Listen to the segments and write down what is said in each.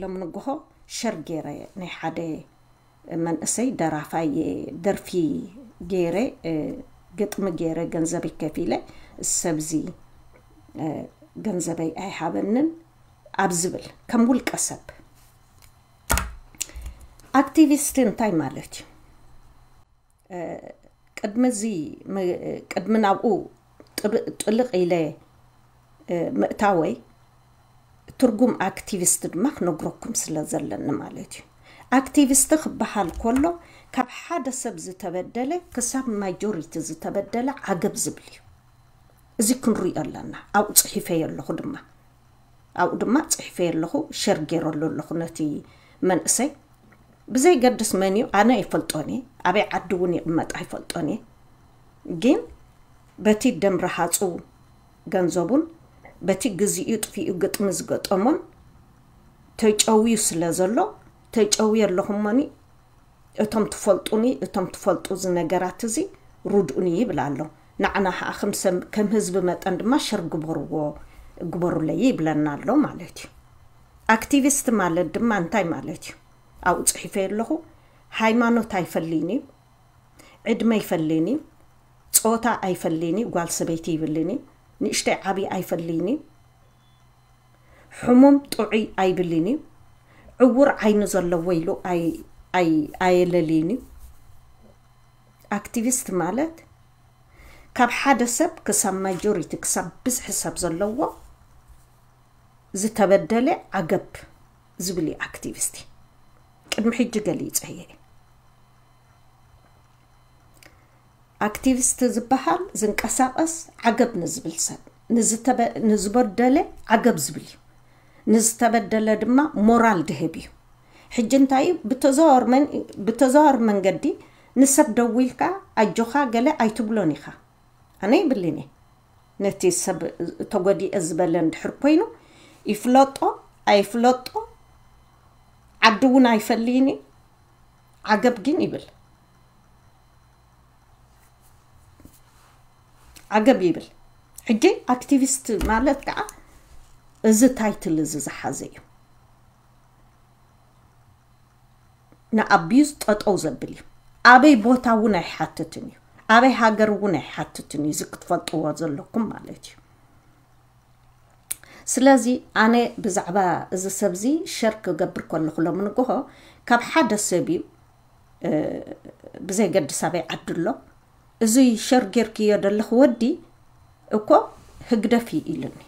ሎሚ ንግሆ ሸር ገይረ ናይ ሓደ መንእሰይ ደራፋይ ደርፊ ገይረ፣ ግጥሚ ገይረ፣ ገንዘበይ ከፊለ፣ ሰብዚ ገንዘበይ ኣይሃበንን ኣብ ዝብል ከም ውልቀ ሰብ። ኣክቲቪስት እንታይ ማለት እዩ? ቅድሚ እዚ ቅድሚ ናብኡ ጥልቕ ኢለ ምእታወይ፣ ትርጉም ኣክቲቪስት ድማ ክነግረኩም ስለ ዘለኒ ማለት እዩ። ኣክቲቪስት ክበሃል ከሎ ካብ ሓደ ሰብ ዝተበደለ ክሳብ ማጆሪቲ ዝተበደለ ዓገብ ዝብል እዩ። እዚ ክንሪኦ ኣለና። ኣብኡ ፅሒፈዮ ኣለኹ ድማ ኣብኡ ድማ ፅሒፈዮ ኣለኹ፣ ሸር ገይረሉ ኣለኹ ነቲ መንእሰይ። ብዘይገድስ መን እዩ፣ ኣነ ኣይፈልጦን እየ፣ ኣበይ ዓዲ እውን ይቕመጥ ኣይፈልጦን እየ። ግን በቲ ደም ረሃፁ ገንዘቡን በቲ ግዚኡ ጥፊኡ ግጥሚ ዝገጠሞን ተጨውዩ ስለ ዘሎ፣ ተጨውየ ኣለኹ እሞኒ እቶም ትፈልጡኒ፣ እቶም ትፈልጡ እዚ ነገራት እዚ ርድኡኒ ይብል ኣሎ። ንዓና ኸዓ ከም ሰብ ከም ህዝቢ መጠን ድማ ሸር ግበርዎ፣ ግበሩለይ ይብለና ኣሎ ማለት እዩ። ኣክቲቪስት ማለት ድማ እንታይ ማለት እዩ? ኣብኡ ፅሒፈ ኣለኹ። ሃይማኖት ኣይፈልይን እዩ፣ ዕድመ ኣይፈልይን እዩ፣ ፆታ ኣይፈልይን እዩ፣ ጓል ሰበይቲ ይብልን እዩ፣ ንእሽተይ ዓብዪ ኣይፈልይን እዩ፣ ሕሙም ጥዑይ ኣይብልን እዩ፣ ዕውር ዓይኒ ዘለዎ ኢሉ ኣይ- ኣይ- ኣየለልይን እዩ። ኣክቲቪስት ማለት ካብ ሓደ ሰብ ክሳብ ማጆሪቲ ክሳብ ብዝሒ ሰብ ዘለዎ ዝተበደለ ዓገብ ዝብል እዩ ኣክቲቪስት። ቅድሚ ሕጂ ገሊፀ እየ። ኣክቲቪስት ዝበሃል ዝንቀሳቐስ ዓገብ ንዝብል ሰብ፣ ንዝተበ- ንዝበደለ ዓገብ ዝብል እዩ። ንዝተበደለ ድማ ሞራል ድህብ እዩ። ሕጂ እንታይ እዩ? ብተዘዋወር መን- ብተዘዋወር መንገዲ ንሰብ ደዊልካ ኣጆኻ ገለ ኣይትብሎን ኢኻ። ኣነ ይብልን እየ። ነቲ ሰብ ተጎዲአ ዝበለ እንድሕር ኮይኑ ይፍለጦ ኣይፍለጦ ዓዲ እውን ኣይፈልይን እዩ። ዓገብ ግን ይብል። ዓገብ ይብል። ሕጂ ኣክቲቪስት ማለት ከዓ እዚ ታይትል እዚ ዝሓዘ እዩ። ንኣቢዩዝ ጠጠው ዘብል እዩ። ኣበይ ቦታ እውን ኣይሓትትን እዩ። ኣበይ ሃገር እውን ኣይሓትትን እዩ። እዚ ክትፈልጥዎ ዘለኩም ማለት እዩ። ስለዚ ኣነ ብዛዕባ እዚ ሰብ እዚ ሸር ክገብር ከለኹ ሎሚ ንግሆ ካብ ሓደ ሰብ እዩ፣ እ፣ ብዘይገድስ ኣበይ ዓዲ ኣሎ፣ እዚ ሸር ጌርክዮ ዘለኽ ወዲ እኮ ህግደፍ እዩ ኢሉኒ።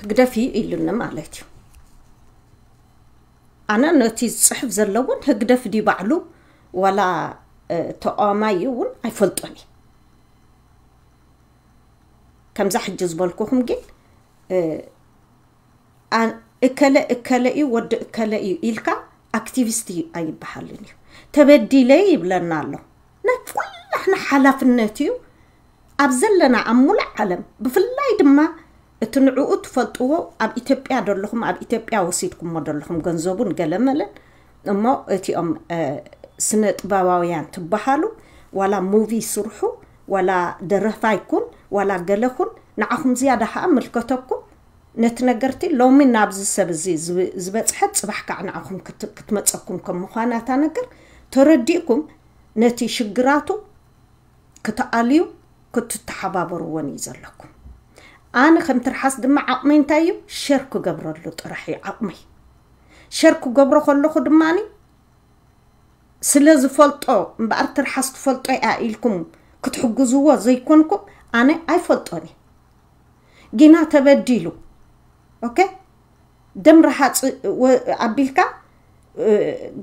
ህግደፍ እዩ ኢሉኒ ማለት እዩ። ኣነ ነቲ ዝፅሕፍ ዘሎ እውን ህግደፍ ድዩ ባዕሉ ዋላ፣ እ፣ ተቃዋማይ እዩ እውን ኣይፈልጦን እዩ። ከምዛ ሕጂ ዝበልኩኹም ግን፣ እ፣ ኣን- እከለ እከለ እዩ፣ ወዲ እከለ እዩ ኢልካ ኣክቲቪስት እዩ ኣይበሃልን እዩ። ተበዲለ ይብለና ኣሎ። ናይ ኩላሕና ሓላፍነት እዩ። ኣብ ዘለና ኣብ ሙሉእ ዓለም ብፍላይ ድማ እቲ ንዕኡ ትፈልጥዎ ኣብ ኢትዮጵያ ዘለኹም፣ ኣብ ኢትዮጵያ ወሲድኩሞ ዘለኹም ገንዘቡን ገለመለን እሞ እቲኦም፣ እ፣ ስነ ጥበባውያን ትበሃሉ ዋላ ሙቪ ስርሑ ዋላ ደረፋይ ኩን ዋላ ገለ ኩን ንዓኹም ዝያዳ ከዓ ምልከተኩም ነቲ ነገርቲ ሎሚ ናብዚ ሰብ እዚ ዝብ- ዝበፅሐት ፅባሕ ከዓ ንዓኹም ክት- ክትመፀኩም ከም ምዃና እታ ነገር ተረዲእኩም ነቲ ሽግራቱ ክትኣልዩ ክትተሓባበርዎን እዩ ዘለኩም። ኣነ ከም ትርሓስ ድማ ዓቕመይ እንታይ እዩ? ሸር ክገብረሉ ጥራሕ እዩ ዓቕመይ። ሸር ክገብሮ ከለኹ ድማኒ ስለ ዝፈልጦ እምበኣር ትርሓስ ትፈልጦ እያ ኢልኩም ክትሕግዝዎ ዘይኮንኩም ኣነ ኣይፈልጦን እየ። ጊና ተበዲሉ፣ ኦኬ፣ ደም ረሃፅ ወ- ኣቢልካ እ፣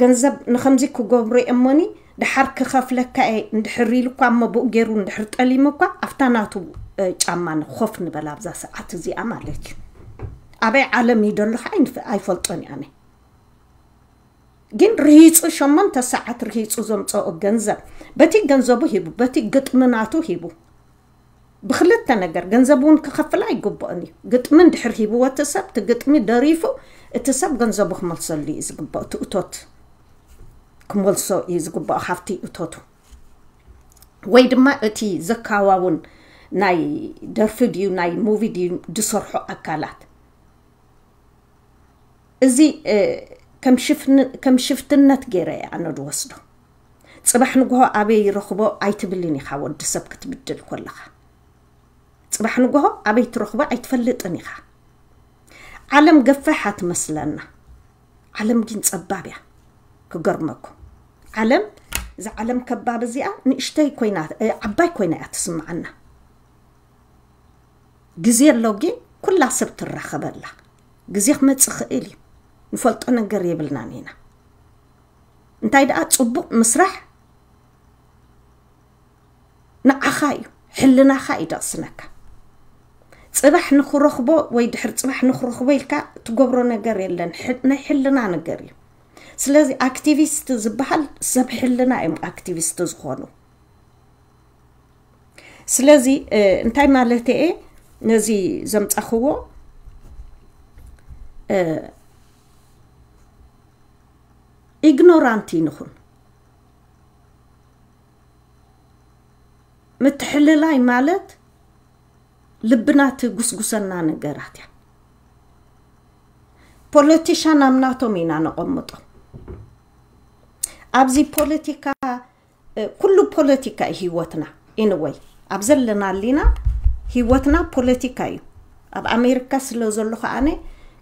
ገንዘብ ንኸምዚ ክገብሮ እየ እሞኒ ድሓር ክኸፍለካ እየ እንድሕር ኢሉ እኳ እሞ ብኡ ገይሩ እንድሕር ጠሊሙ እኳ ኣብታ ናቱ እ፣ ጫማ ንኾፍ ንበል ኣብዛ ሰዓት እዚኣ ማለት እዩ። ኣበይ ዓለም እዩ ደሎ ከዓ ኣይንፍ- ኣይፈልጦን እየ ኣነ። ግን ርሂፁ ሸሞንተ ሰዓት ርሂፁ ዘምፀኦ ገንዘብ በቲ ገንዘቡ ሂቡ በቲ ግጥሚ ናቱ ሂቡ ብክልተ ነገር ገንዘብ እውን ክኸፍል ኣይግብኦን እዩ። ግጥሚ እንድሕር ሂብዎ እቲ ሰብ እቲ ግጥሚ ደሪፉ እቲ ሰብ ገንዘቡ ክመልሰሉ እዩ ዝግብኦ። እቲ እቶት ክመልሶ እዩ ዝግብኦ ካብቲ እቶቱ ወይ ድማ እቲ ዘካዋውን ናይ ደርፊ ድዩ ናይ ሙቪ ድዩ ዝሰርሑ ኣካላት፣ እዚ ከም ሽፍትነት ገይረ ኣነ ዝወስዶ። ፅባሕ ንግሆ ኣበይ ይረኽቦ ኣይትብልን ኢኻ። ወዲ ሰብ ክትብድል ኮለኻ ፅባሕ ንግሆ ኣበይ ትረኽቦ ኣይትፈልጥን ኢኻ። ዓለም ገፋሓ ትመስለና። ዓለም ግን ጸባብ እያ። ክገርመኩም፣ ዓለም፣ እዛ ዓለም ከባብ እዚኣ ንእሽተይ ኮይና፣ ዓባይ ኮይና እያ ትስምዓና። ግዜ ኣሎ ግን ኩላ ሰብ ትራኸበላ። ግዜ ክመጽእ ክእል እዩ። ንፈልጦ ነገር የብልናን ኢና። እንታይ ደኣ ጽቡቕ ምስራሕ ንዓኻ እዩ፣ ሕልናኻ እዩ ደቕስነካ። ጽባሕ ንኽረኽቦ ወይ ድሕር ጽባሕ ንኽረኽቦ ኢልካ ትገብሮ ነገር የለን። ናይ ሕልና ነገር እዩ። ስለዚ ኣክቲቪስት ዝበሃል ሰብ ሕልና እዮም ኣክቲቪስት ዝኾኑ። ስለዚ እንታይ ማለት እየ ነዚ ዘምጻኽዎ? ኢግኖራንት ይንኹን። ምትሕልላይ ማለት ልብና ትጉስጉሰና ነገራት እያ። ፖለቲሻን ኣብ ናቶም ኢና ነቐምጦ። ኣብዚ ፖለቲካ ኩሉ ፖለቲካ እዩ ህይወትና። ኢንወይ ኣብ ዘለና ኣሊና ህይወትና ፖለቲካ እዩ። ኣብ ኣሜሪካ ስለ ዘለኹ ኣነ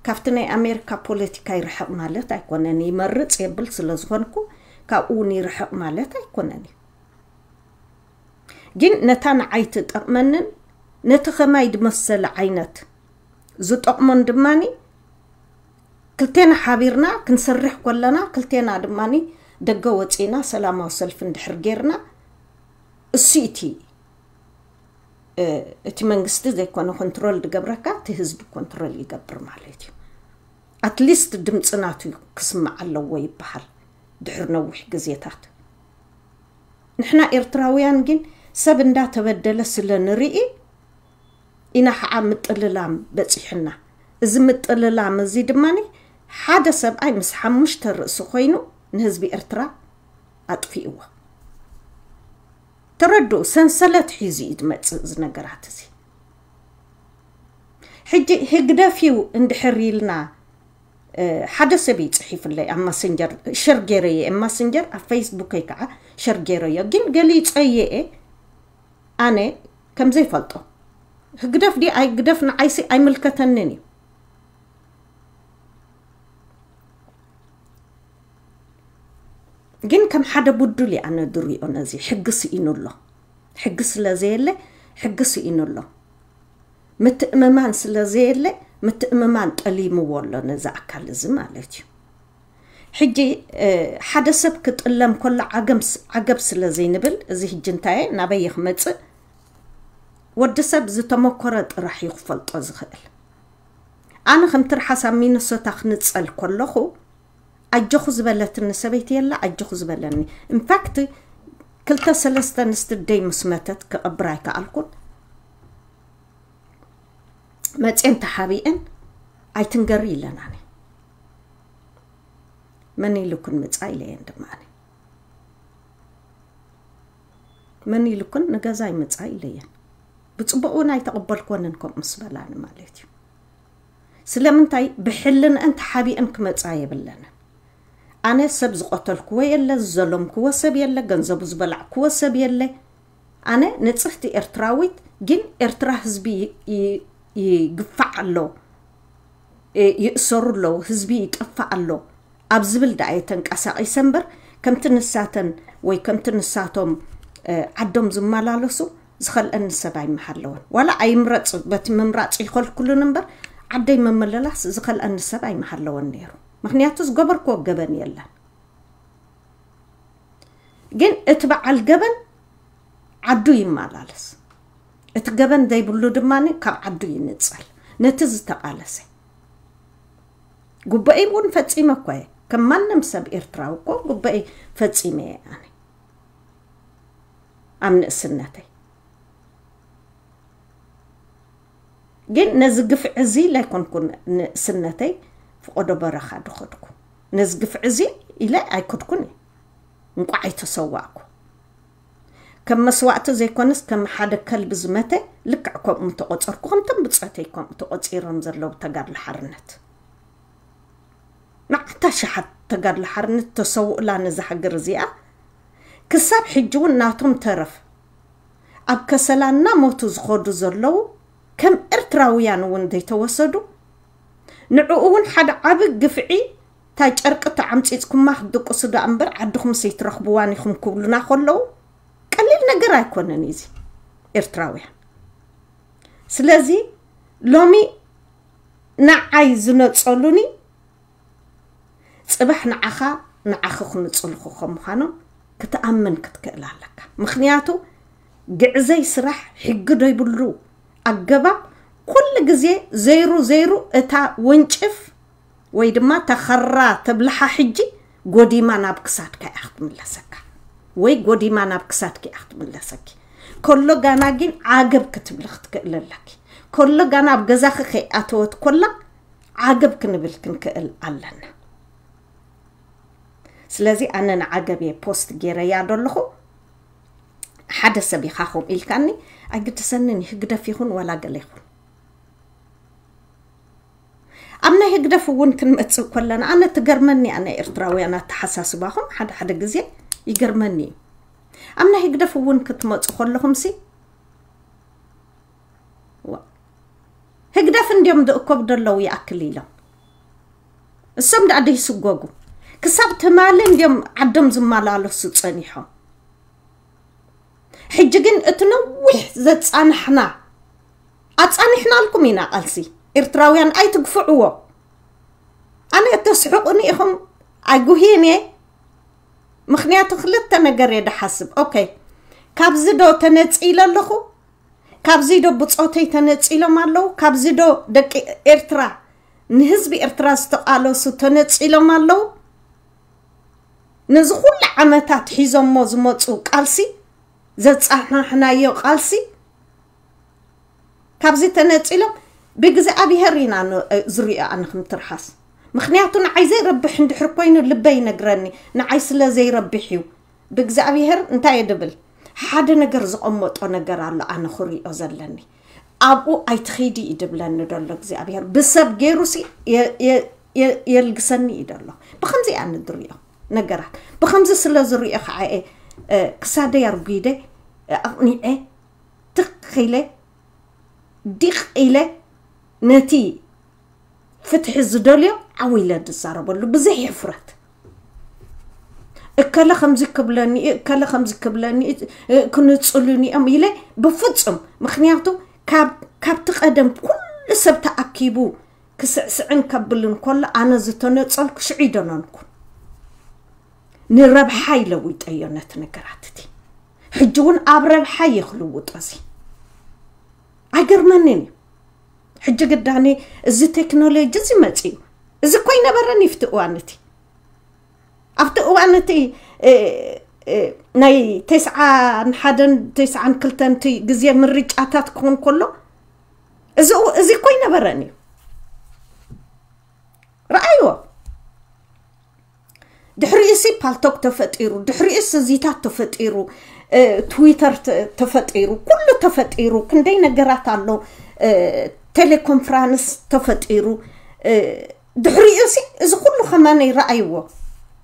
ካብቲ ናይ ኣሜሪካ ፖለቲካ ይርሕቕ ማለት ኣይኮነን። ይመርፅ የብል ስለ ዝኾንኩ ካብኡ እውን ይርሕቕ ማለት ኣይኮነን እዩ። ግን ነታ ንዓይ ትጠቕመንን ነቲ ኸማይ ዝመሰለ ዓይነት ዝጠቕሞን ድማኒ ክልቴና ሓቢርና ክንሰርሕ ኮለና ክልቴና ድማኒ ደገ ወፂና ሰላማዊ ሰልፊ እንድሕር ጌርና እሱ እቲ እቲ መንግስቲ ዘይኮነ ኮንትሮል ዝገብረካ እቲ ህዝቢ ኮንትሮል ይገብር ማለት እዩ። ኣትሊስት ድምፂ ናቱ ክስማዕ ኣለዎ ይበሃል ድሕሪ ነዊሕ ግዜታት። ንሕና ኤርትራውያን ግን ሰብ እንዳተበደለ ስለ ንርኢ ኢና ከዓ ምጥልላም በፂሕና። እዚ ምጥልላም እዚ ድማ ሓደ ሰብኣይ ምስ ሓሙሽተ ርእሲ ኮይኑ ንህዝቢ ኤርትራ ኣጥፊእዎ። ተረድኡ፣ ሰንሰለት ሒዙ እዩ ዝመፅእ እዚ ነገራት እዚ። ሕጂ ህግደፍ እዩ እንድሕር ኢልና ሓደ ሰብ እዩ ፅሒፍለይ ኣብ ማሰንጀር ሸር ገይረየ ማሰንጀር ኣብ ፌስቡከይ ከዓ ሸር ገይረዮ ግን ገሊፀየኤ ኣነ ከምዘይፈልጦ ህግደፍ ዲ ኣይግደፍ ንዓይሲ ኣይምልከተንን እዩ። ግን ከም ሓደ ቡዱል እየ ኣነ ድሪኦ ነዚ ሕጊ ስኢኑ ኣሎ። ሕጊ ስለ ዘየለ ሕጊ ስኢኑ ኣሎ። ምትእምማን ስለ ዘየለ ምትእምማን ጠሊምዎ ኣሎ ነዚ ኣካል እዚ ማለት እዩ። ሕጂ ሓደ ሰብ ክጥለም ከሎ ዓገብ ስለ ዘይንብል እዚ ሕጂ እንታየ ናበየ ክመፅእ ወዲ ሰብ ዝተመኮረ ጥራሕ እዩ ክፈልጦ ዝኽእል። ኣነ ከም ትርሓስ ኣብ ሚኒሶታ ክንፀል ከለኹ ኣጆኹ ዝበለትኒ ሰበይቲ የላ ኣጆኹ ዝበለኒ። ኢንፋክት ክልተ ሰለስተ ኣንስቲ ደይ ምስ መተት ክቐብር ኣይከኣልኩን። መፅየን ተሓቢአን ኣይትንገሪ ኢለናኒ። መን ኢሉክን ምፃ ኢለየን ድማ መን ኢሉክን ንገዛይ ምፃ ኢለየን። ብፅቡቅ እውን ኣይተቐበልኮንን ከምኡ ምስ በላኒ ማለት እዩ። ስለምንታይ ብሕልንአን ተሓቢአን ክመፃ የብለንን። ኣነ ሰብ ዝቐተልክዎ የለ፣ ዝዘለምክዎ ሰብ የለ፣ ገንዘቡ ዝበላዕክዎ ሰብ የለ። ኣነ ንፅህቲ ኤርትራዊት ግን ኤርትራ ህዝቢ ይግፋዕ ኣሎ፣ ይእሰሩ ኣለዉ፣ ህዝቢ ይጠፍእ ኣሎ ኣብ ዝብል ደኣ እየ ተንቀሳቒሰ እምበር ከምቲ ንሳተን ወይ ከምቲ ንሳቶም ዓዶም ዝመላለሱ ዝኸልአኒ ሰብ ኣይምሃለወን። ዋላ ኣይምረፅ በቲ ምምራፅ ይኸልክሉን እምበር ዓደይ ምምልላስ ዝኸልአኒ ሰብ ኣይምሃለወን ነይሩ። ምክንያቱ ዝገበርክዎ ገበን የለን። ግን እቲ በዓል ገበን ዓዱ ይመላለስ። እቲ ገበን ዘይብሉ ድማ ካብ ዓዱ ይንፀል። ነቲ ዝተቓለሰ ጉባኤ እውን ፈፂመ እኮ እየ። ከም ማንም ሰብ ኤርትራዊ እኮ ጉባኤ ፈፂመ እየ ኣነ ኣብ ንእስነተይ። ግን ነዚ ግፍዒ እዚ ላይኮንኩን ንእስነተይ ፍቆዶ በረኻ ድኸድኩ። ነዚ ግፍዒ እዚ ኢለ ኣይከድኩን እየ። እንቋዕ ኣይተሰዋእኩ። ከም መስዋእቲ ዘይኮነስ ከም ሓደ ከልቢ ዝመተ ልክዕ ከምኡ ተቆጸርኩ። ከምቶም ብጾተይ ከምኡ ተቆጺሮም ዘለዉ ተጋድሎ ሓርነት፣ መዓታ ሸሓት ተጋድሎ ሓርነት ተሰውእላ ነዛ ሃገር እዚኣ። ክሳብ ሕጂ እውን ናቶም ተረፍ ኣብ ከሰላ እናሞቱ ዝኸዱ ዘለዉ ከም ኤርትራውያን እውን ዘይተወሰዱ፣ ንዕኡ እውን ሓደ ዓቢ ግፍዒ፣ እታ ጨርቂ ተዓምጺጽኩማ ክትድቅሱ ደኣ እምበር ዓድኹምስ ኣይትረኽብዋን ኢኹም ክብሉና ከለዉ፣ ቀሊል ነገር ኣይኮነን እዚ ኤርትራውያን። ስለዚ ሎሚ ንዓይ ዝነጸሉኒ ጽባሕ ንዓኻ፣ ንዓኺ ክንጽልኹ ከም ምዃኖም ክትኣምን ክትክእል ኣለካ። ምኽንያቱ ግዕዘይ ስራሕ፣ ሕጊ ዘይብሉ ኣገባብ፣ ኩሉ ግዜ ዘይሩ ዘይሩ እታ ወንጭፍ ወይ ድማ እታ ኸራ ተብልሓ ሕጂ ጎዲማ ናብ ክሳድካ እያ ክትምለሰካ፣ ወይ ጎዲማ ናብ ክሳድኪ እያ ክትምለሰኪ። ከሎ ጋና ግን ዓገብ ክትብሊ ክትክእል ኣለኪ። ከሎ ጋና ኣብ ገዛኺ ከይኣተወት ኮላ ዓገብ ክንብል ክንክእል ኣለና። ስለዚ ኣነ ንዓገብ እየ ፖስት ገይረያ ደለኹ። ሓደ ሰብ ኢኻ ከምኡ ኢልካኒ፣ ኣይግድሰንን፣ ህግደፍ ይኹን ዋላ ገለ ይኹን። ኣብ ናይ ህግደፍ እውን ክንመጽእ ከለና፣ ኣነ ትገርመኒ እያ ናይ ኤርትራውያን ኣተሓሳስባኹም፣ ሓደ ሓደ ግዜ ይገርመኒ እዩ። ኣብ ናይ ህግደፍ እውን ክትመጹ ከለኹምሲ፣ ዋ፣ ህግደፍ እንድዮም ዝእከቡ ዘለዉ ይኣክል ኢሎም። እሶም ደኣ ደይስጎጉ። ክሳብ ትማሊ እንድዮም ዓዶም ዝመላለሱ ጸኒሖም። ሕጂ ግን እቲ ነዊሕ ዘጻናሕና፣ ኣጻኒሕናልኩም ኢና ቃልሲ። ኤርትራውያን ኣይትግፍዕዎ። ኣነ እተስሕቁኒ ኢኹም ኣይጉህይን እየ። ምኽንያቱ ክልተ ነገር እየ ድሓስብ። ኦኬ፣ ካብዚ ዶ ተነጺለ ኣለኹ? ካብዚ ዶ ብጾተይ ተነጺሎም ኣለዉ? ካብዚ ዶ ደቂ ኤርትራ፣ ንህዝቢ ኤርትራ ዝተቃለሱ ተነጺሎም ኣለዉ? ነዚ ኩሉ ዓመታት ሒዞሞ ዝመጹ ቃልሲ፣ ዘጻናሕናዮ ቃልሲ፣ ካብዚ ተነጺሎም ብእግዚኣብሄር ኢና ን-፣ ዝሪኦ ኣነ ከም ትርሓስ። ምኽንያቱ ንዓይ ዘይረብሕ እንድሕር ኮይኑ ልበይ ይነግረኒ፣ ንዓይ ስለ ዘይረብሕ እዩ። ብእግዚኣብሄር እንታይ እየ ድብል? ሓደ ነገር ዝቐመጦ ነገር ኣሎ ኣነ ክሪኦ ዘለኒ። ኣብኡ ኣይትኸይዲ እዩ ድብለኒ ደሎ እግዚኣብሄር። ብሰብ ገይሩሲ የ-፣ የ-፣ የ-፣ የልግሰኒ እዩ ደሎ። ብኸምዚ እየ ኣነ ዝሪኦ ነገራት። ብኸምዚ ስለ ዝሪኦ ከዓ እየ፣ እ፣ ክሳደይ ኣርጒደ፣ እ፣ ኣቕኒዐ፣ ትኽ ኢለ፣ ዲቕ ኢለ ነቲ ፍትሒ ዝደልዮ ዓው ኢለ ዝዛረበሉ ብዘይ ሕፍረት። እከለ ከምዚ ክብለኒ እዩ፣ እከለ ከምዚ ክብለኒ እዩ፣ እ፣ ክንጽሉኒ እዮም ኢለ ብፍጹም። ምኽንያቱ ካብ፣ ካብቲ ቀደም ኩሉ ሰብ ተኣኪቡ ክስዕስዕን ከብልን ከሎ ኣነ ዝተነጸልኩ ሽዑ ይደነንኩ። ንረብሓ ይለውጠዮ ነቲ ነገራት እቲ። ሕጂ እውን ኣብ ረብሓ እየ ክልውጦ እዚ። ኣይገርመንን እዩ። ሕጂ ግዳኒ እዚ ቴክኖሎጂ እዚ መጺኡ። እዚ እኮ ኣይነበረን እዩ ኣብቲ እዋን እቲ። ኣብቲ እዋን እቲ፣ እ፣ እ፣ ናይ ተስዓን ሓደን ተስዓን ክልተን እቲ ግዜ ምርጫታት ክኾን ከሎ እዚ፣ እዚ እኮ ኣይነበረን እዩ። ረኣይዎ። ድሕሪኡሲ ፓልቶክ ተፈጢሩ፣ ድሕሪኡስ እዚታት ተፈጢሩ፣ እ፣ ትዊተር ተ-፣ ተፈጢሩ፣ ኩሉ ተፈጢሩ፣ ክንደይ ነገራት ኣሎ፣ እ፣ ቴሌኮንፍራንስ ተፈጢሩ፣ እ፣ ድሕሪኡሲ እዚ ኩሉ ከማን ይረኣይዎ።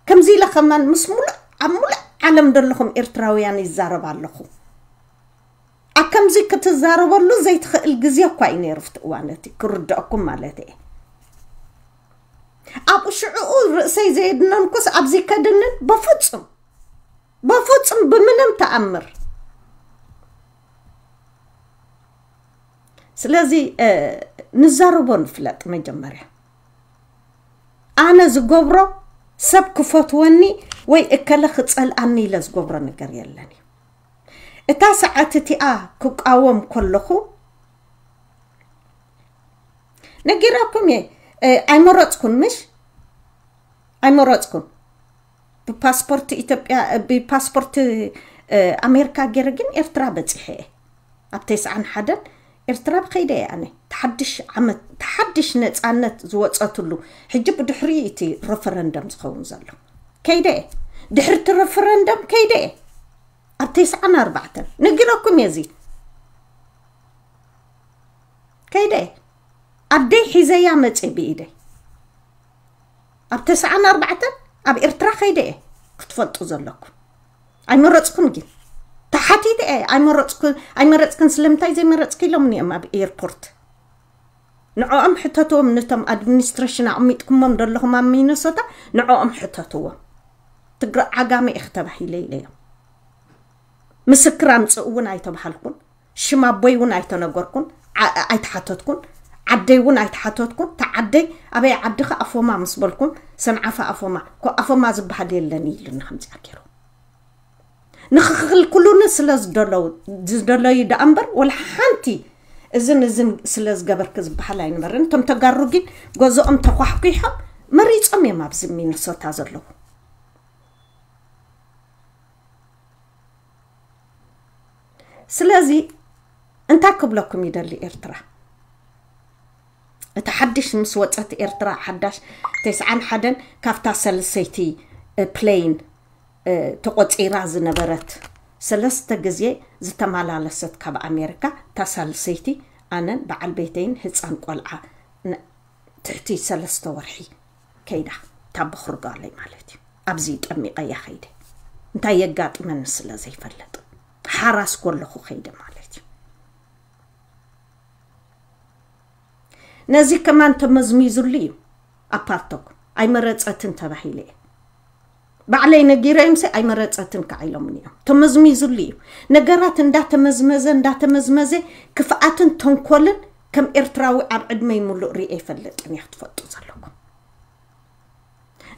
ከምዚ ኢለ ከማን ምስ ሙሉእ፣ ኣብ ሙሉእ ዓለም ዘለኹም ኤርትራውያን ይዛረብ ኣለኹ። ኣብ ከምዚ ክትዛረበሉ ዘይትኽእል ግዜ እኳ እዩ ነይሩ፣ ኣብቲ እዋን እቲ ክርድአኩም ማለት እየ። ኣብኡ ሽዕኡ ርእሰይ ዘየድነንኩስ ኣብዚ ከድንን በፍጹም፣ በፍጹም ብምንም ተኣምር። ስለዚ፣ እ፣ ንዛረቦ ንፍለጥ መጀመርያ። ኣነ ዝገብሮ ሰብ ክፈትወኒ ወይ እከለ ክጸልኣኒ ኢለ ዝገብሮ ነገር የለን እዩ። እታ ሰዓት እቲኣ ክቃወም ከለኹ ነጊረኩም እየ፣ እ፣ ኣይመረጽኩን ምሽ? ኣይመረጽኩን። ብፓስፖርት ኢትዮጵያ፣ ብፓስፖርት፣ እ፣ ኣሜሪካ ገይረ ግን ኤርትራ በጺሐ እየ። ኣብ ተስዓን ሓደን ኤርትራ ብኸይደ እየ ኣነ። ተሓድሽ ዓመት፣ ተሓድሽ ነጻነት ዝወጸትሉ፣ ሕጂ ብድሕሪ እቲ ረፈረንደም ዝኸውን ዘሎ። ከይደ እየ። ድሕሪ እቲ ረፈረንደም ከይደ እየ። ኣብ ተስዓን ኣርባዕተን ነጊረኩም እየ። እዚ ከይደ እየ። ኣደይ ሒዘያ መፅእ ብኢደይ። ኣብ ተስዓን ኣርባዕተን ኣብ ኤርትራ ከይደ እየ። ክትፈልጡ ዘለኩም። ኣይመረፅኩን ግን ተሓቲተ እየ። ኣይመረፅኩን ኣይመረፅክን ስለምንታይ ዘይመረፅክ ኢሎም እዮም ኣብ ኤርፖርት። ንዕኦም ሕተትዎም፣ ነቶም ኣድሚኒስትሬሽን ኣቕሚጥኩሞም ዘለኹም ኣብ ሚነሶታ ንዕኦም ሕተትዎም። ትግረ ዓጋመ ኢኽ ተባሂለ ኢለዮም። ምስክር ኣምፅእ እውን ኣይተባሃልኩን። ሽም ኣቦይ እውን ኣይተነገርኩን። ዓ- ኣይተሓተትኩን። ዓደይ እውን ኣይተሓተትኩን። ተዓደይ ኣበይ ዓድኻ ኣፎማ ምስ በልኩም ሰንዓፈ ኣፎማ ኮ ኣፎማ ዝበሃል የለን ኢሉኒ ከምዚኣ ገይሩ ንኽኽልክሉኒ ስለ ዝደለዉ ዝደለዩ ደኣ እምበር ወላ ሓንቲ እዝን እዝን ስለ ዝገበርክ ዝበሃል ኣይነበርን። እቶም ተጋሩ ግን ገዝኦም ተኳሕኲሖም መሪፆም እዮም ኣብዚ ሚነሶታ ዘለዉ። ስለዚ እንታይ ክብለኩም ይደሊ ኤርትራ እቲ ሓድሽ ምስ ወፀት ኤርትራ ሓዳሽ ተስዓን ሓደን ካብታ ሰልሰይቲ ፕሌን ተቆፂራ ዝነበረት ሰለስተ ግዜ ዝተመላለሰት ካብ ኣሜሪካ እታ ሳልሰይቲ ኣነን በዓል ቤተይን ህፃን ቆልዓ ን- ትሕቲ ሰለስተ ወርሒ ከይዳ እታ በኽሪ ጓለይ ማለት እዩ ኣብዚ ጠሚቐያ ከይደ እንታይ የጋጥመኒ ስለ ዘይፈልጥ ሓራስ ኮለኹ ከይደ ማለት እዩ ነዚ ከማን ተመዝሚዙሉ እዩ ኣፓርቶክ ኣይመረፀትን ተባሂለ እየ ባዕለይ ነጊረዮምሲ ኣይመረፀትን ከዓ ኢሎምኒ እዮም ተመዝሚዙሉ እዩ ነገራት እንዳተመዝመዘ እንዳተመዝመዘ ክፍኣትን ተንኮልን ከም ኤርትራዊ ኣብ ዕድመይ ሙሉእ ሪኤ ይፈልጥን እየ ክትፈልጡ ዘለኩም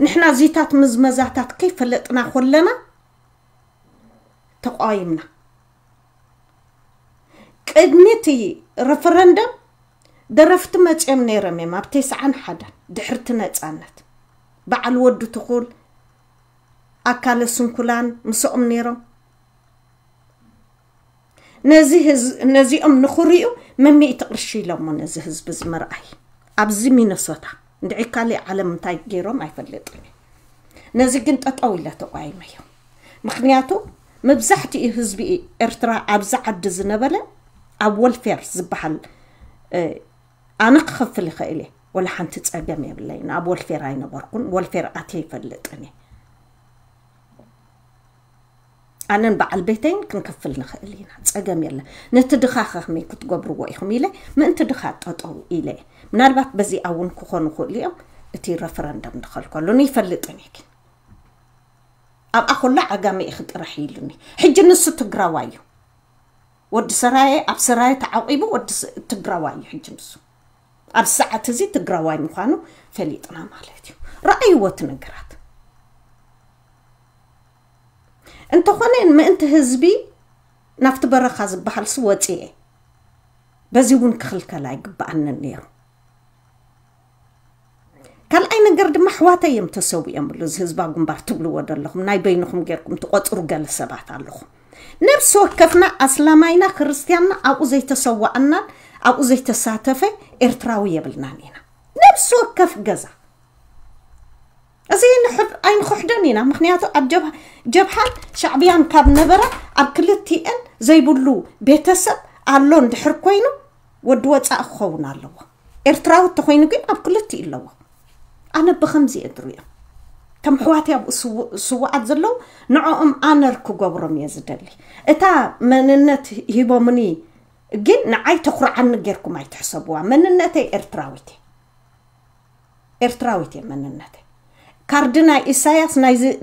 ንሕና እዚታት ምዝመዛታት ከይፈለጥና ኮለና ተቋይምና ቅድሚ እቲ ረፈረንደም ደረፍቲ መፅኦም ነይሮም እዮም ኣብ ተስዓን ሓደን ድሕርቲ ነፃነት በዓል ወዲ ትኹል ኣካለ ስንኩላን ምስኦም ነይሮም ነዚ ህዝ- ነዚኦም ንኽሪኡ መሚእቲ ቅርሺ ኢሎሞ ነዚ ህዝቢ እዚ ምርኣይ ኣብዚ ሚነሶታ እንድዒ ካሊእ ዓለም እንታይ ገይሮም ኣይፈልጥን እዩ ነዚ ግን ጠጠው ኢለ ተቋይመዮ ምኽንያቱ መብዛሕትኡ ህዝቢ ኤርትራ ኣብዚ ዓዲ ዝነበለ ኣብ ወልፌር ዝበሃል ኣነ ክኸፍል ይኽእል እየ ወላ ሓንቲ ፀገም የብለይን ኣብ ወልፌር ኣይነበርኩን ወልፌር ኣትየ ይፈልጥን እየ ኣነን በዓል ቤተይን ክንከፍል ንኽእል ኢና ፀገም የለን ነቲ ድኻ ከመይ ክትገብርዎ ኢኹም ኢለ ምእንቲ ድኻ ጠጠው ኢለ ምናልባት በዚኣ እውን ክኾኑ ክእሉ እዮም እቲ ረፈረንደም ንኸልከሉ ንይፈልጥን እየ ግን ኣብኣ ኮላ ዓጋመ ኢኺ ጥራሕ ኢሉኒ ሕጂ ንሱ ትግራዋይ እዩ ወዲ ሰራየ ኣብ ሰራየ ተዓቂቡ ወዲ ትግራዋይ እዩ ሕጂ ንሱ ኣብ ሰዓት እዚ ትግራዋይ ምዃኑ ፈሊጥና ማለት እዩ ረኣይዎ እቲ ነገራት እንተኾነ ምእንቲ ህዝቢ ናብቲ በረኻ ዝበሃልሲ ወፅኤ በዚ እውን ክኽልከል ኣይግበኣንን ነይሩ ካልኣይ ነገር ድማ ኣሕዋተይ እዮም ተሰዊኦምሉ እዚ ህዝባዊ ግንባር ትብልዎ ዘለኹም ናይ በይንኹም ጌርኩም ትቆፅሩ ገለ ሰባት ኣለኹም ነብሲ ወከፍና ኣስላማይና ክርስትያንና ኣብኡ ዘይተሰዋኣናን ኣብኡ ዘይተሳተፈ ኤርትራዊ የብልናን ኢና ነብሲ ወከፍ ገዛ እዚ ኣይንክሕደን ኢና ምክንያቱ ኣብ ጀብሃን ሻዕብያን ካብ ነበረ ኣብ ክልቲኤን ዘይብሉ ቤተሰብ ኣሎ እንድሕር ኮይኑ ወዲ ወፃኢ ክኸውን ኣለዎ ኤርትራዊ ተኮይኑ ግን ኣብ ክልቲኡ ኣለዎ ኣነ ብከምዚ እየ ዝሪኦ ከም ኣሕዋተይ ኣብኡ ስውኣት ዘለዉ ንዕኦም ኣነር ክገብሮም እየ ዝደሊ እታ መንነት ሂቦምኒ ግን ንዓይ ተኩርዓኒ ጌርኩም ኣይትሕሰብዋ መንነተይ ኤርትራዊት እየ ኤርትራዊት እየ መንነተይ ካርዲ ናይ ኢሳያስ